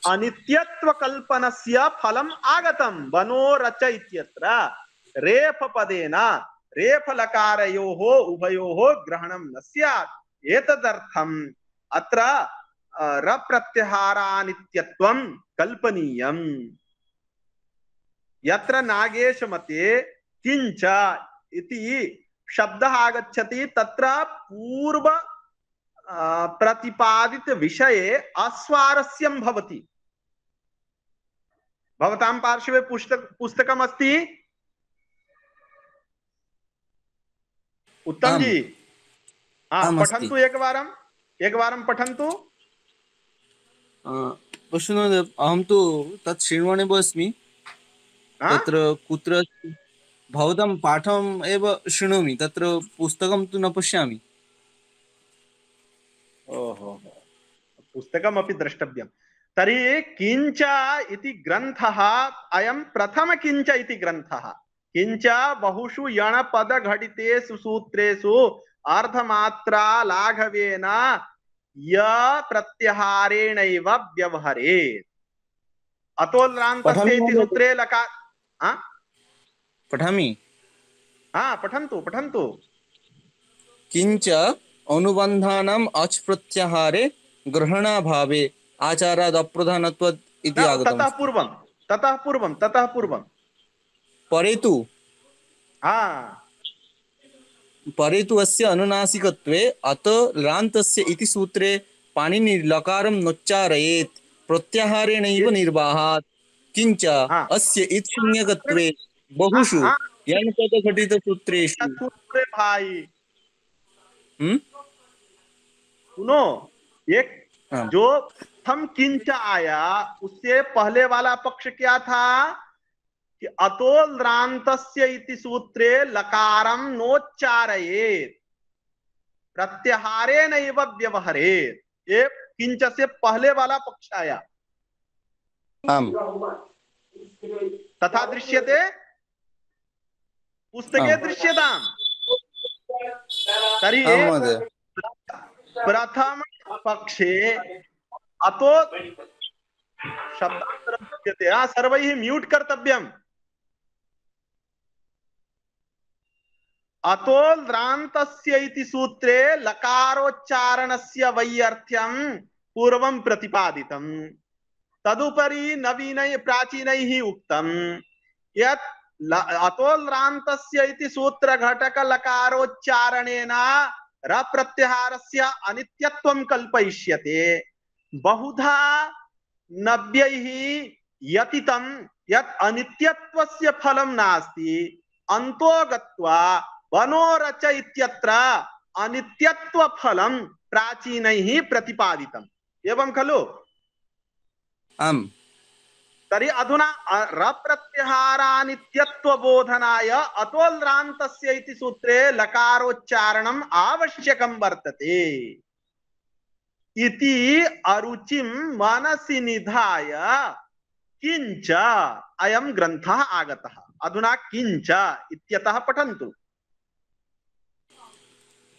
अनित्यत्व कल्पनस्य फलम् आगतं। बनोरच इत्यत्र रेफपदेन रेफलकारयोः उभयोः ग्रहणं न स्यात्। एतदर्थम् अत्र रप्रत्याहारानित्यत्वं कल्पनीयम्। यत्र नागेश मते किंच इति शब्दः आगच्छति तत्र पूर्व प्रतिपादित विषये अस्वारस्यं भवति। भवतां पार्श्वे पुस्तकम् अस्ति? उत्तम जी, पठन्तु एकवारं पठन्तु। अहं तु तत् शृण्वन्नेव अस्मि। तत्र कुत्र भवतां पाठम् एव शृणोमि, तत्र पुस्तकं तु न पश्यामि। ओहो, पुस्तकमपि द्रष्टव्यं। तर्हि किंच इति ग्रन्थः अयं प्रथम किंच इति ग्रन्थः। किंच बहुषु यणपद घटितेषु सूत्रेषु अर्धमात्रा लाघवेन य प्रत्याहारेणैव व्यवहरेत्। अतोल्रान्तस्य इति सूत्रे लकार पठामि। पठन्तु। किंच अनुबन्धानाम् अच् प्रत्याहारे ग्रहणाभावे आचाराद् अप्रधानत्वात् इति न, आगतम् अस्ति। ततः पूर्वं परे तु हाँ परे तु अस्य अनुनासिकत्वे अत रान्तस्य इति सूत्रे पाणिनि लकारं नोच्चारयेत् प्रत्याहारेणैव ये निर्वाहात्। किञ्च हाँ अस्य इत्संज्ञकत्वे बहुषु हाँ यणपदघटितसूत्रेषु सूत्र भाई हम्म सुनो, एक हाँ जो प्रथम किंच आया उससे पहले वाला पक्ष क्या था कि अतोल्रांतस्य इति सूत्रे लकारं नोच्चारयेत् प्रत्याहारे नैव व्यवहरेत्। ये किंच से पहले वाला पक्ष आया, आम् तथा दृश्यते पुस्तके आम् दृश्यताम्। तर्हि आम् महोदय। प्रथम पक्षे अतो शब्दान्तरं दृश्यते। सर्वैः म्यूट् कर्तव्यम्। अतोल्रान्तस्य इति सूत्रे लकारोच्चारणस्य वैयर्थ्यं पूर्वं प्रतिपादितम्। तदुपरि नवीनैः प्राचीनैः उक्तं यत् अतोल्रान्तस्य इति सूत्रघटक लकारोच्चारणेन रप्रत्याहारस्य अनित्यत्वं कल्पयिष्यते। बहुधा नव्यैः यतितं यत् अनित्यत्वस्य फलं नास्ति, अन्तो गत्वा वनोरच इत्यत्र अनित्यत्व फलं प्राचीनैः प्रतिपादितम्। एवं खलु? आम् तर्हि अधुना रप्रत्याहारानित्यत्व बोधनाय अतोल्रान्तस्य इति सूत्रे लकारोच्चारणम् आवश्यकं वर्तते इति अरुचिं मनसि निधाय किंच अयं ग्रन्थः आगतः। अधुना किंच इत्यतः पठन्तु।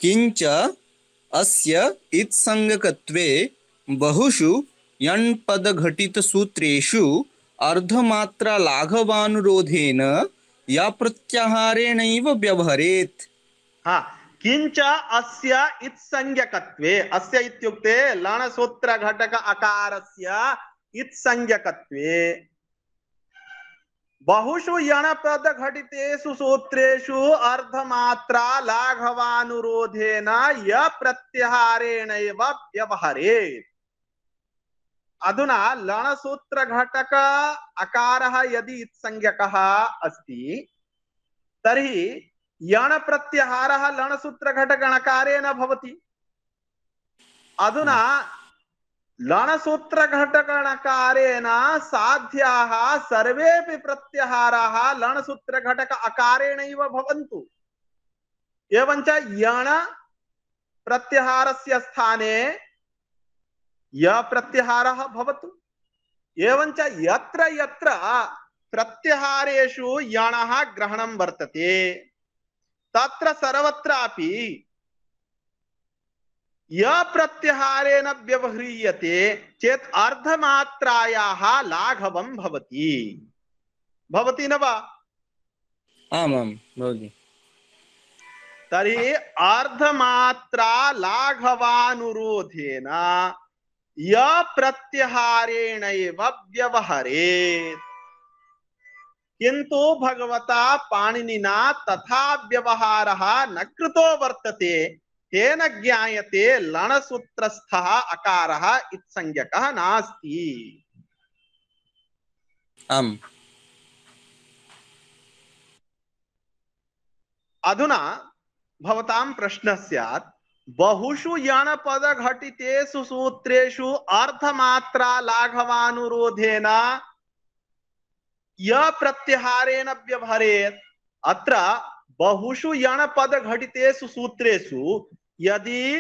किञ्च अस्य इत्संज्ञकत्वे बहुषु यण्पदघटितसूत्रेषु अर्धमात्रालाघवानुरोधेन यप्रत्याहारेणैव व्यवहरेत्। हाँ, किंच अस्य इत्संज्ञकत्वे, अस्य इत्युक्ते लणसूत्र घटक अकारस्य इत्संज्ञकत्वे बहुषु यणपद घटितेषु सूत्रेषु अर्धमात्रा लाघवानुरोधेन य प्रत्याहारेणैव व्यवहरेत्। अधुना लणसूत्र घटक अकारः यदि इत्संज्ञकः अस्ति तर्हि यण प्रत्याहारः लणसूत्र घटक णकारेण भवति। अधुना लणसूत्र घटक णकारेण साध्याः सर्वेपि प्रत्याहाराः लणसूत्र घटक अकारेणैव भवन्तु। एवञ्च यण प्रत्याहारस्य स्थाने य प्रत्याहारः भवतु। एवञ्च यत्र यत्र प्रत्याहारेषु यणः ग्रहणं वर्तते तत्र सर्वत्रापि य प्रत्याहारेण व्यवह्रियते चेत् अर्धमात्रायाः लाघवं भवति। भवति न वा? आमां भवति। तर्हि अर्धमात्रा लाघवानुरोधेन य प्रत्याहारेणैव व्यवहरेत्। किन्तु भगवता पाणिनिना तथा व्यवहारः न कृतो वर्तते। तेन ज्ञायते लणसूत्रस्थः अकारः इत्संज्ञकः नास्ति। आम् अधुना भवतां प्रश्नः स्यात्, बहुषु यणपद घटितेषु सूत्रेषु अर्धमात्रा लाघवानुरोधेन य प्रत्याहारेण व्यवहरेत्। अत्र बहुषु यणपद घटितेषु सूत्रेषु यदि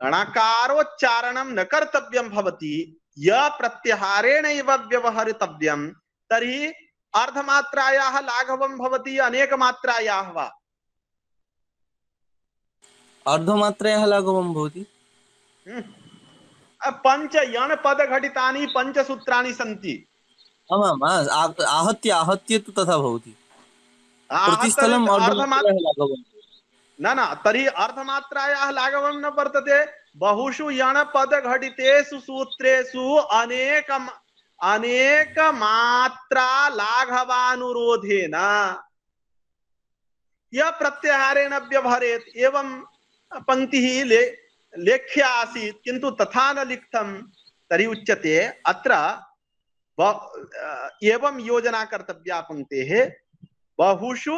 णकारोच्चारणं न कर्तव्यं भवति, य प्रत्याहारेणैव व्यवहरितव्यं, तर्हि अर्धमात्रायाः लाघवं भवति अनेकमात्रायाः वा? अर्धमात्रायाः लाघवं भवति। पंच यणपद घटितानि पंचसूत्राणि सन्ति। आमाम् आहत्य आहत्य तु तथा भवति। प्रतिस्थलम् अर्धमात्रायाः लाघवं न तर्हि अर्धमात्रायाः लाघवं न वर्तते। बहुषु यणपद घटितेषु सूत्रेषु अनेक मात्रा लाघवानुरोधेन यह प्रत्याहारेण व्यवहरेत् एवं पंक्तिः लेख्या आसीत् किन्तु तथा न लिखितं तर्हि उच्यते अत्र एवं योजना कर्तव्या पंक्तेः बहुषु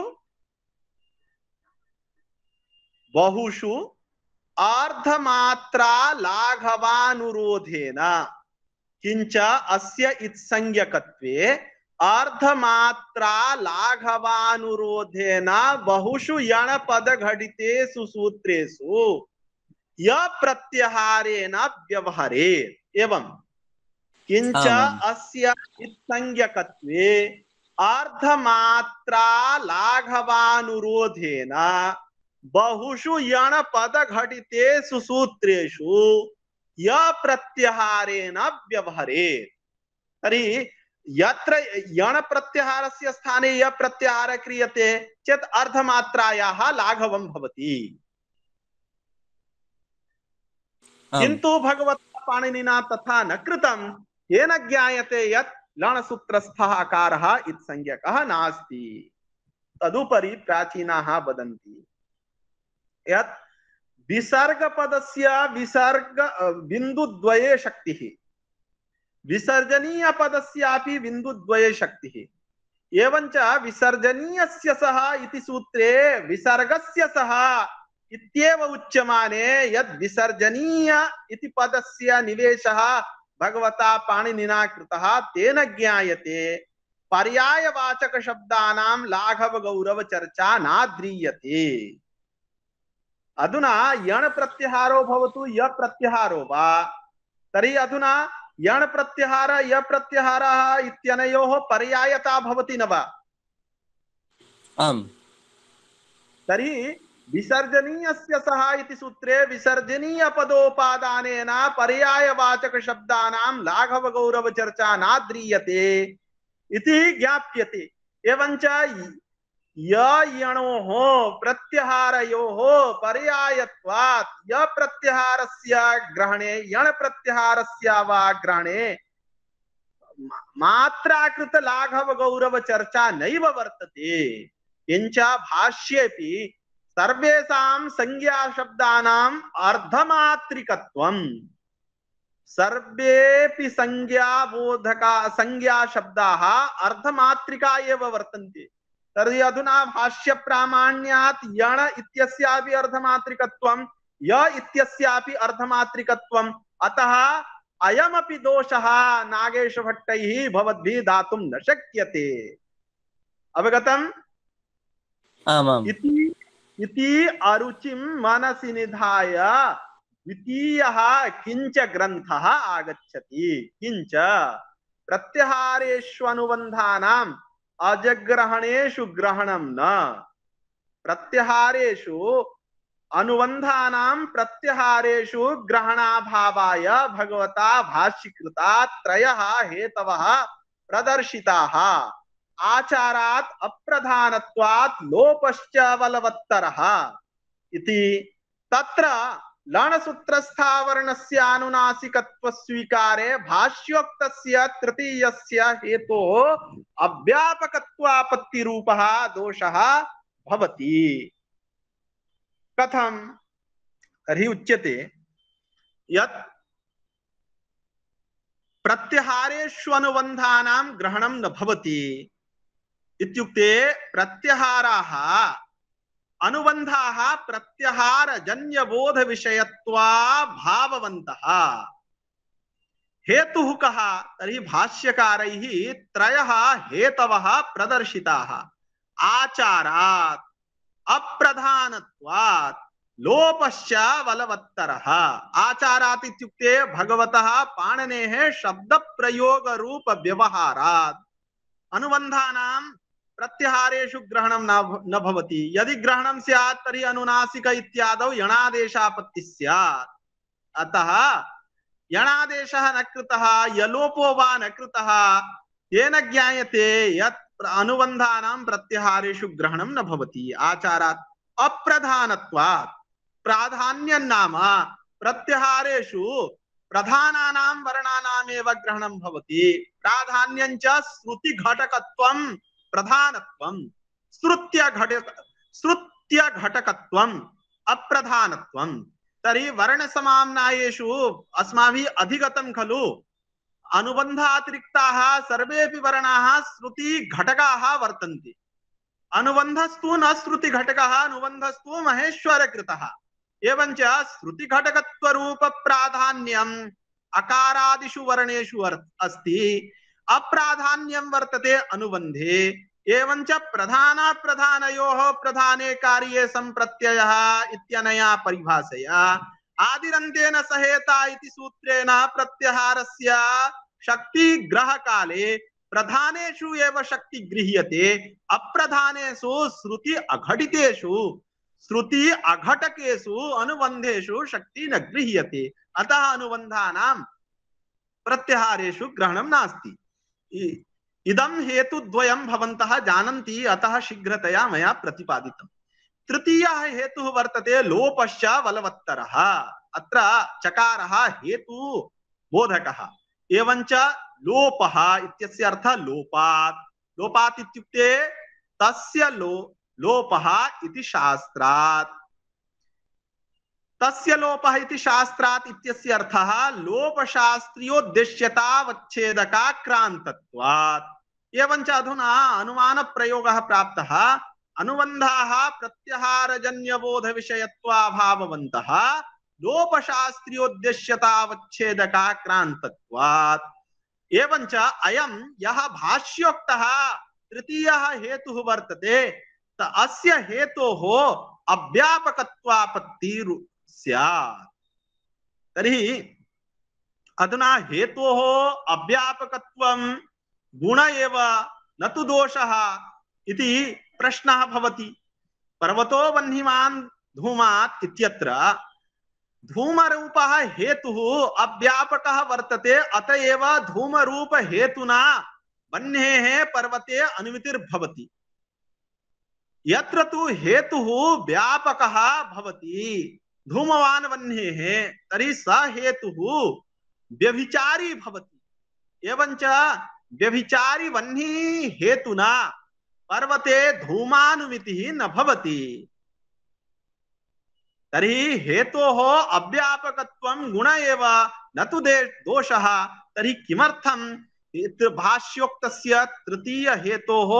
बहुषु अर्धमात्रा लाघवानुरोधेन किंच अस्य इत्संज्ञकत्वे अर्धमात्रा लाघवानुरोधेन बहुषु यणपद घटितेषु सूत्रेषु य प्रत्याहारेण व्यवहरेत् एवं किंच अस्य इत्संज्ञकत्वे अर्धमात्रा लाघवानुरोधेन बहुषु यणपद घटितेषु सूत्रेषु य प्रत्याहारेण व्यवहरेत्। तर्हि यत्र यण प्रत्याहारस्य स्थाने य प्रत्याहार क्रियते चेत् अर्धमात्रायाः लाघवं भवति। किन्तु भगवता पाणिनिना तथा न कृतं। येन ज्ञायते यत् लणसूत्रस्थः अकारः इत्संज्ञकः नास्ति। तदुपरि प्राचीनाः वदन्ति यत् विसर्गपदस्य विसर्ग बिन्दुद्वये शक्तिः, विसर्जनीय पदस्यापि बिन्दुद्वये शक्तिः। एवञ्च विसर्जनीयस्य सः इति सूत्रे विसर्गस्य सः इत्येव उच्यमाने यद् विसर्जनीय इति पदस्य निवेशः भगवता पाणिनिना कृतः तेन ज्ञायते पर्यायवाचक शब्दानां लाघव गौरव चर्चा नाद्रीयते। अधुना यण प्रत्याहारो भवतु य प्रत्याहारो वा तर्हि अधुना यण प्रत्याहार य प्रत्याहारः इत्यनयोः पर्यायता भवति न वा? आम्। तर्हि विसर्जनीयस्य सः इति सूत्रे विसर्जनीय पदोपादानेन पर्यायवाचक शब्दानां लाघव गौरव चर्चा नाद्रीयते इति ज्ञाप्यते। एवञ्च यणोः प्रत्याहारयोः पर्यायत्वात् य प्रत्याहारस्य ग्रहणे यण प्रत्याहारस्य वा ग्रहणे मात्राकृत लाघव गौरव चर्चा नैव वर्तते। किंच भाष्येपि सर्वेषां संज्ञा शब्दानाम् अर्धमात्रिकत्वं सर्वेपि संज्ञा शब्दाः अर्धमात्रिका एव वर्तन्ते। तर्हि अधुना भाष्य प्रामाण्यात् यण इत्यस्यापि अर्धमात्रिकत्वं य इत्यस्यापि अर्धमात्रिकत्वम् अतः अयमपि दोषः नागेश भट्टैः भवद्भिः दातुं न शक्यते। अवगतम्? आमाम्। इति अरुचिं मनसि निधाय द्वितीयः किंच ग्रन्थः आगच्छति। किंच प्रत्याहारेष्वनुबन्धानां अजग्रहणेषु ग्रहणं न प्रत्याहारेषु अनुबन्धानां प्रत्याहारेषु ग्रहणाभावाय भगवता भाष्यकृता त्रयः हेतवः प्रदर्शिताः। आचारात् अप्रधानत्वात् लोपश्च बलवत्तरः इति तत्र लणसूत्रस्थावर्णस्य अनुनासिकत्व स्वीकारे भाष्योक्तस्य तृतीयस्य हेतोः अव्यापकत्वापत्तिरूपः दोषः भवति। कथं? तर्हि उच्यते यत् प्रत्याहारेष्वनुबन्धानां ग्रहणं न भवति इत्युक्ते प्रत्याहाराः अनुबन्धाः प्रत्याहारजन्यबोध विषयत्वा भाववन्तः। हेतुः कः? तर्हि भाष्यकारैः त्रयः हेतवः प्रदर्शिताः। आचारात् अप्रधानत्वात् लोपश्च बलवत्तरः। आचारात् इत्युक्ते भगवतः पाणिनेः शब्दप्रयोग रूप व्यवहारात् अनुबन्धानां प्रत्याहारेषु ग्रहणं न भवति। यदि ग्रहणं स्यात् तर्हि अनुनासिक इत्यादौ यणादेशापत्तिः स्यात्। अतः यणादेशः न कृतः यलोपो वा न कृतः तेन ज्ञायते यत् अनुबन्धानां प्रत्याहारेषु ग्रहणं न भवति। आचारात् अप्रधानत्वात् प्राधान्यं नाम प्रत्याहारेषु प्रधानानां वर्णानामेव ग्रहणं भवति। प्राधान्यं च श्रुतिघटकत्वं प्रधानत्वं, श्रुत्यघटकत्वम् अप्रधानत्वं। तर्हि वर्णसमाम्नायेषु अस्माभिः अधिगतं खलु अनुबन्धातिरिक्ताः सर्वेऽपि वर्णाः श्रुतिघटकाः वर्तन्ते। अनुबन्धस्तु न श्रुतिघटकः, अनुबन्धस्तु महेश्वरकृतः। एवञ्च श्रुतिघटकत्वरूपप्राधान्यम् अकारादिषु वर्णेषु अस्ति, अप्राधान्यं वर्तते अनुबन्धे। एवञ्च प्रधानाप्रधानयोः प्रधाने कार्ये सम्प्रत्ययः इत्यनया परिभाषया आदिरन्तेन सहेता इति सूत्रेण प्रत्याहारस्य शक्तिग्रहकाले प्रधानेषु एव शक्ति गृह्यते, अप्रधानेषु श्रुति अघटितेषु श्रुति अघटकेषु अनुबन्धेषु शक्ति न गृह्यते। अतः अनुबन्धानां प्रत्याहारेषु ग्रहणं नास्ति। इदं हेतुद्वयं भवन्तः जानन्ति, अतः शीघ्रतया मया प्रतिपादितम्। तृतीयः हेतुः वर्तते लोपश्च बलवत्तरः। अत्र चकारः हेतु बोधकः। एवञ्च लोपः इत्यस्य अर्थः लोपात्। लोपात् इत्युक्ते तस्य लोपः इति शास्त्रात्। तस्य लोपः इति शास्त्रात् इत्यस्य अर्थः लोपशास्त्रीयोद्देश्यतावच्छेदकाक्रान्तत्वात्। एवञ्च अधुना अनुमानप्रयोगः प्राप्तः। अनुबन्धाः प्रत्याहारजन्यबोधविषयत्वाभाववन्तः लोपशास्त्रीयोद्देश्यतावच्छेदकाक्रान्तत्वात्। एवञ्च अयं यः भाष्योक्तः तृतीयः हेतुः वर्तते, अस्य हेतोः अव्यापकत्वापत्तिः स्यात्। तर्हि अधुना हेतोः अव्यापकत्वं गुण एव न तु दोषः इति प्रश्नः भवति। पर्वतो वह्निमान् धूमात् इत्यत्र धूमरूपः हेतुः अव्यापकः वर्तते, अतएव धूमरूप हेतुना वह्नेः पर्वते अनुमितिर्भवति। यत्र तु हेतुः व्यापकः भवति धूमवान् वह्नेः, तर्हि स हेतुः व्यभिचारी भवति। एवञ्च व्यभिचारी वह्नि हेतुना पर्वते धूमानुमितिः न भवति। तर्हि हेतोः अव्यापकत्वं गुण एव न तु दोषः। तर्हि किमर्थं भाष्योक्तस्य तृतीय हेतोः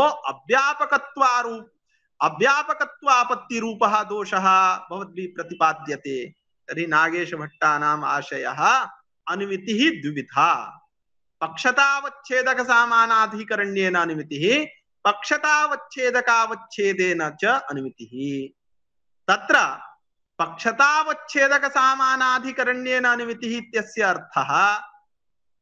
अव्यापकत्वापत्तिरूपः दोषः भवद्भिः प्रतिपाद्यते। तर्हि नागेशभट्टानाम् आशयः अनुमितिः द्विविधा। पक्षतावच्छेदक सामानाधिकरण्येन अनुमितिः, पक्षतावच्छेदकावच्छेदेन च अनुमितिः। तत्र पक्षतावच्छेदक सामानाधिकरण्येन अनुमितिः इत्यस्य अर्थः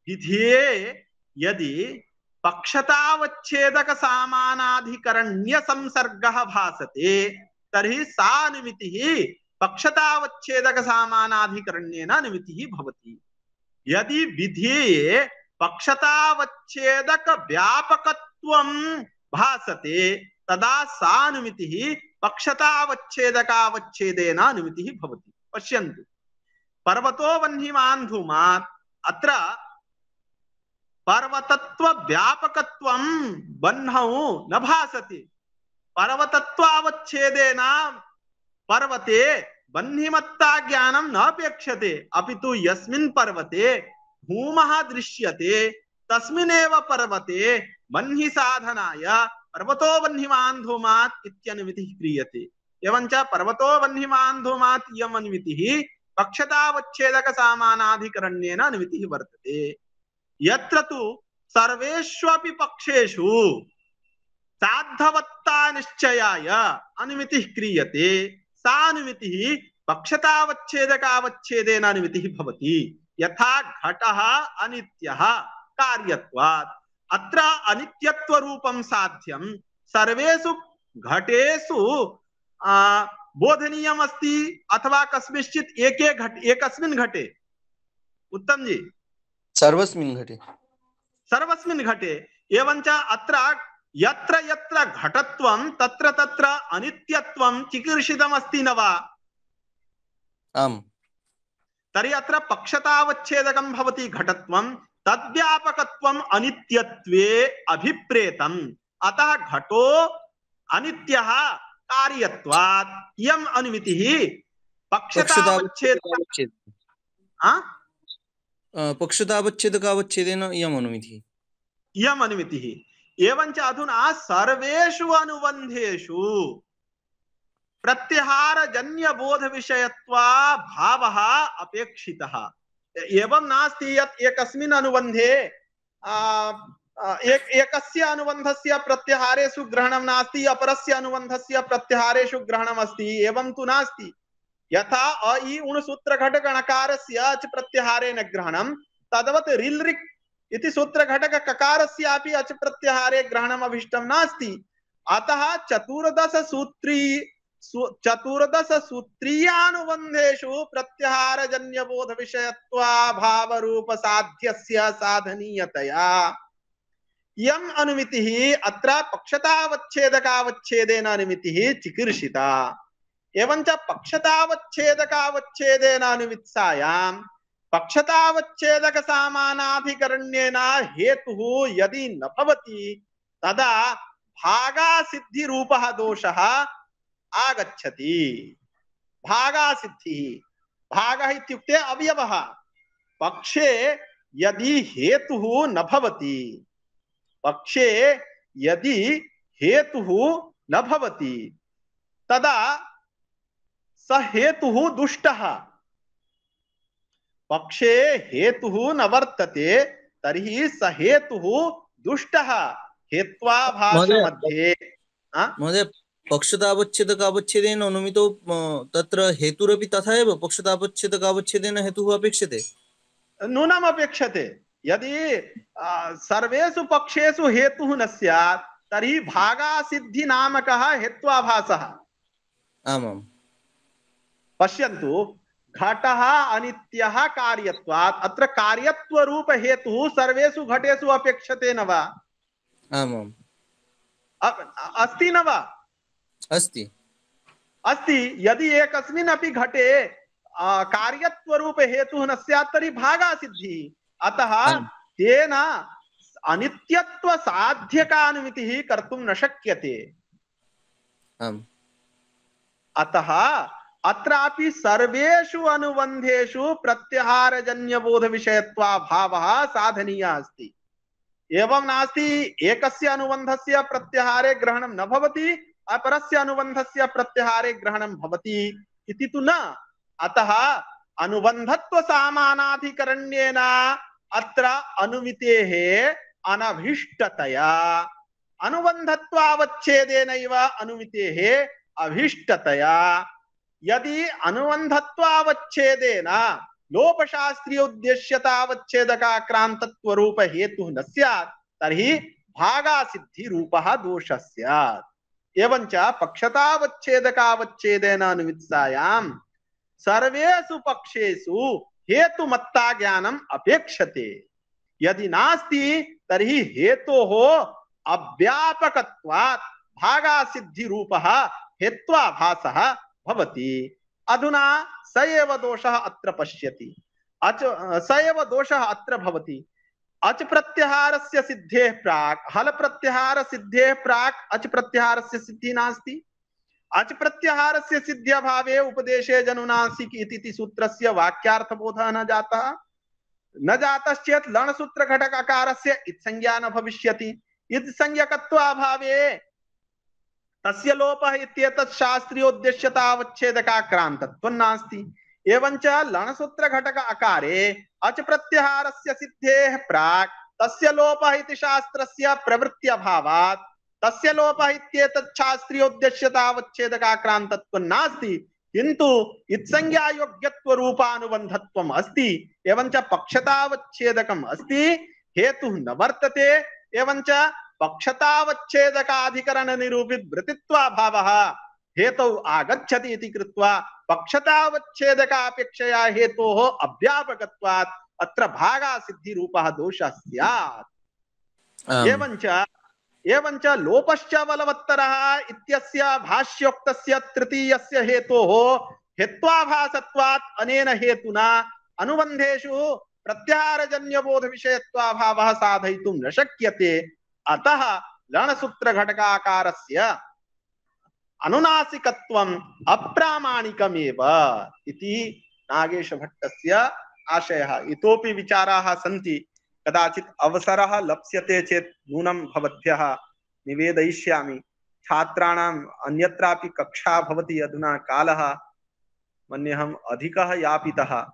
विधिये यदि पक्षतावच्छेदक सामानाधिकरण्य संसर्गः भासते तर्हि सा अनुमितिः पक्षतावच्छेदक सामानाधिकरण्येन अनुमितिः भवति। यदि विधिये पक्षतावच्छेदक व्यापकत्वं भासते तदा सा अनुमितिः पक्षतावच्छेदकावच्छेदेन अनुमितिः भवति। पश्यन्तु, पर्वतो वह्निमान् धूमात्, अत्र पर्वतत्व व्यापकत्वं वह्नौ न भासते। पर्वतत्वावच्छेदेन पर्वते वह्निमत्ता ज्ञानं न अपेक्षते, अपितु यस्मिन् पर्वते धूमः दृश्यते तस्मिन्नेव पर्वते वह्नि साधनाय पर्वतो वह्निमान् धूमात् इत्यनुमितिः क्रियते। एवञ्च पर्वतो वह्निमान् धूमात् इयम् अनुमितिः पक्षतावच्छेदक सामानाधिकरण्येन अनुमितिः वर्तते। यत्र तु सर्वेष्वपि पक्षेषु साधवत्ता निश्चयाय अनुमितिः क्रियते, सा अनुमितिः पक्षतावच्छेदकावच्छेदेन अनुमितिः भवति। यथा घटः अनित्यः कार्यत्वात्, अत्र अनित्यत्व रूपं साध्यं सर्वेषु घटेषु बोधनीयम् अस्ति अथवा कस्मिंश्चित् एकस्मिन् घटे। उत्तम जी, सर्वस्मिन् घटे। सर्वस्मिन् घटे। एवञ्च अत्र यत्र यत्र घटत्वं तत्र तत्र अनित्यत्वं चिकीर्षितम् अस्ति न वा? आम्। तर्हि अत्र पक्षतावच्छेदकं भवति घटत्वं, तद्व्यापकत्वम् अनित्यत्वे अभिप्रेतम्। अतः घटो अनित्यः कार्यत्वात् इयम् अनुमितिः पक्षतावच्छेदक पक्षतावच्छेदकावच्छेदेन इयम् अनुमितिः। इयम् अनुमितिः। एवञ्च अधुना सर्वेषु अनुबन्धेषु प्रत्याहारजन्यबोधविषयत्वा भावः अपेक्षितः। एवं नास्ति यत् एकस्मिन् अनुबन्धे एकस्य अनुबन्धस्य प्रत्याहारेषु ग्रहणं नास्ति, अपरस्य अनुबन्धस्य प्रत्याहारेषु ग्रहणम् अस्ति, एवं तु नास्ति। यथा अ इ उण् सूत्रघटकणकारस्य अच् प्रत्याहारेण ग्रहणं, तद्वत् रिल् रिक् इति सूत्रघटककारस्यापि अच् प्रत्याहारे ग्रहणम् अभिष्टं नास्ति। अतः चतुर्दश सूत्रीयानुबन्धेषु प्रत्याहारजन्यबोध विषयत्वाभावरूप साध्यस्य साधनीयतया इयम् अनुमितिः अत्र पक्षतावच्छेदकावच्छेदेन अनुमितिः चिकीर्षिता। एवञ्च पक्षतावच्छेदकावच्छेदेन अनुमित्सायां पक्षतावच्छेदक सामानाधिकरण्येन हेतुः यदि न भवति तदा भागासिद्धि रूपः दोषः आगच्छति। भागासिद्धिः, भागः इत्युक्ते अवयवः। पक्षे यदि हेतुः न भवति, पक्षे यदि हेतुः न भवति तदा स हेतुः दुष्टः। पक्षे हेतुः न वर्तते तर्हि स हेतुः दुष्टः। हेत्वाभास मध्ये महोदय, पक्षतावच्छेदकावच्छेदेन अनुमितो तत्र हेतुरपि तथा एव पक्षतावच्छेदकावच्छेदेन हेतुः अपेक्षते, नूनम् अपेक्षते। यदि सर्वेषु पक्षेषु हेतुः न स्यात् तर्हि भागासिद्धि नामकः हेत्वाभासः। आमां पश्यन्तु, घटः अनित्यः कार्यत्वात् अत्र कार्यत्वरूप हेतुः सर्वेषु घटेषु अपेक्षते न वा? आमां अस्ति न वा? अस्ति अस्ति। यदि एकस्मिन् अपि घटे कार्यत्वरूप हेतुः न स्यात् तर्हि भागासिद्धिः। अतः तेन अनित्यत्व साध्यकानुमितिः कर्तुं न शक्यते। अतः अत्रापि सर्वेषु अनुबन्धेषु प्रत्याहारजन्यबोध विषयत्वाभावः साधनीयः अस्ति। एवं नास्ति एकस्य अनुबन्धस्य प्रत्याहारे ग्रहणं न भवति, अपरस्य अनुबन्धस्य प्रत्याहारे ग्रहणं भवति इति तु न। अतः अनुबन्धत्व सामानाधिकरण्येन अत्र अनुमितेः अनभिष्टतया, अनुबन्धत्वावच्छेदेनैव अनुमितेः अभिष्टतया। यदि अनुबन्धत्वावच्छेदेन लोपशास्त्रीय उद्देश्यतावच्छेदकाक्रान्तत्वरूप हेतुः न स्यात् तर्हि भागासिद्धि रूपः दोषः स्यात्। एवञ्च पक्षतावच्छेदकावच्छेदेन अनुमित्सायां सर्वेषु पक्षेषु हेतुमत्ता ज्ञानम् अपेक्षते। यदि नास्ति तर्हि हेतोः अव्यापकत्वात् भागासिद्धि रूपः हेत्वाभासः भवति। अधुना स एव दोषः अत्र पश्यति, स एव दोषः अत्र भवति। अच प्रत्याहारस्य सिद्धेः प्राक् हल प्रत्याहार सिद्धेः प्राक् अच प्रत्याहारस्य सिद्धिः नास्ति। अच प्रत्याहारस्य सिद्ध्यभावे उपदेशे जनुनासिक इति सूत्रस्य वाक्यार्थबोधः न जातश्चेत् लणसूत्र घटक अकारस्य इत्संज्ञा न भविष्यति। इत्संज्ञकत्वाभावे तस्य लोपः इत्येतत् शास्त्रीयोद्देश्यतावच्छेदकाक्रान्तत्वं नास्ति। एवञ्च लणसूत्र घटक अकारे अच प्रत्याहारस्य सिद्धेः प्राक् तस्य लोपः इति शास्त्रस्य प्रवृत्त्यभावात् तस्य लोपः इत्येतत् शास्त्रीयोद्देश्यतावच्छेदकाक्रान्तत्वं नास्ति, किन्तु इत्संज्ञायोग्यत्व रूपानुबन्धत्वम् अस्ति। एवञ्च पक्षतावच्छेदकम् अस्ति, हेतुः न वर्तते। एवञ्च पक्षतावच्छेदकाधिकरण निरूपित वृत्तित्वाभावः हेतौ आगच्छति इति कृत्वा पक्षतावच्छेदकापेक्षया हेतोः अव्यापकत्वात् अत्र भागासिद्धि रूपः दोषः स्यात्। एवञ्च लोपश्च बलवत्तरः इत्यस्य भाष्योक्तस्य तृतीयस्य हेतोः हेत्वाभासत्वात् अनेन हेतुना अनुबन्धेषु प्रत्याहारजन्यबोधविषयत्वाभावः साधयितुं न शक्यते। अतः लणसूत्रघटकाकारस्य अनुनासिकत्वम् अप्रामाणिकमेव इति नागेशभट्टस्य आशयः। इतोपि विचाराः सन्ति, कदाचित् अवसरः लप्स्यते चेत् नूनं भवद्भ्यः निवेदयिष्यामि। छात्राणाम् अन्यत्रापि कक्षा भवति, अधुना कालः मन्येऽहम् अधिकः यापितः,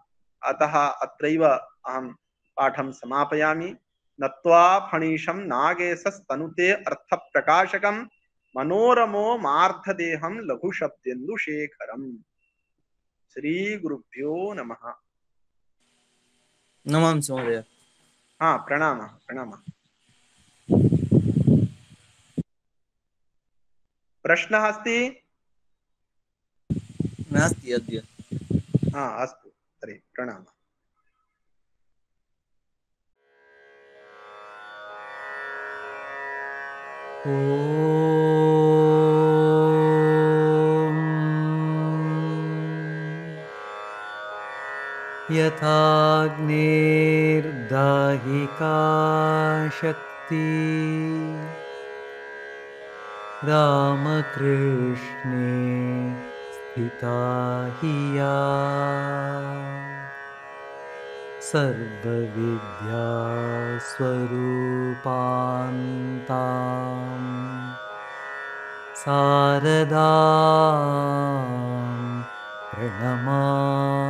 अतः अत्रैव अहं पाठं समापयामि। नत्वा फणीशं नागेशस्तनुते अर्थप्रकाशकं मनोरमो मार्धदेहं लघुशब्देन्दुशेखरम्। श्रीगुरुभ्यो नमः। नमांसि महोदय। हाँ, प्रणामः प्रणामः। प्रश्नः अस्ति? नास्ति अद्य। हाँ, अस्तु तर्हि प्रणामः। ॐ यथाग्नेर्दाहिका शक्ति रामकृष्णे स्थिता हि या सर्वविद्यास्वरूपान्तां शारदां प्रणमामि।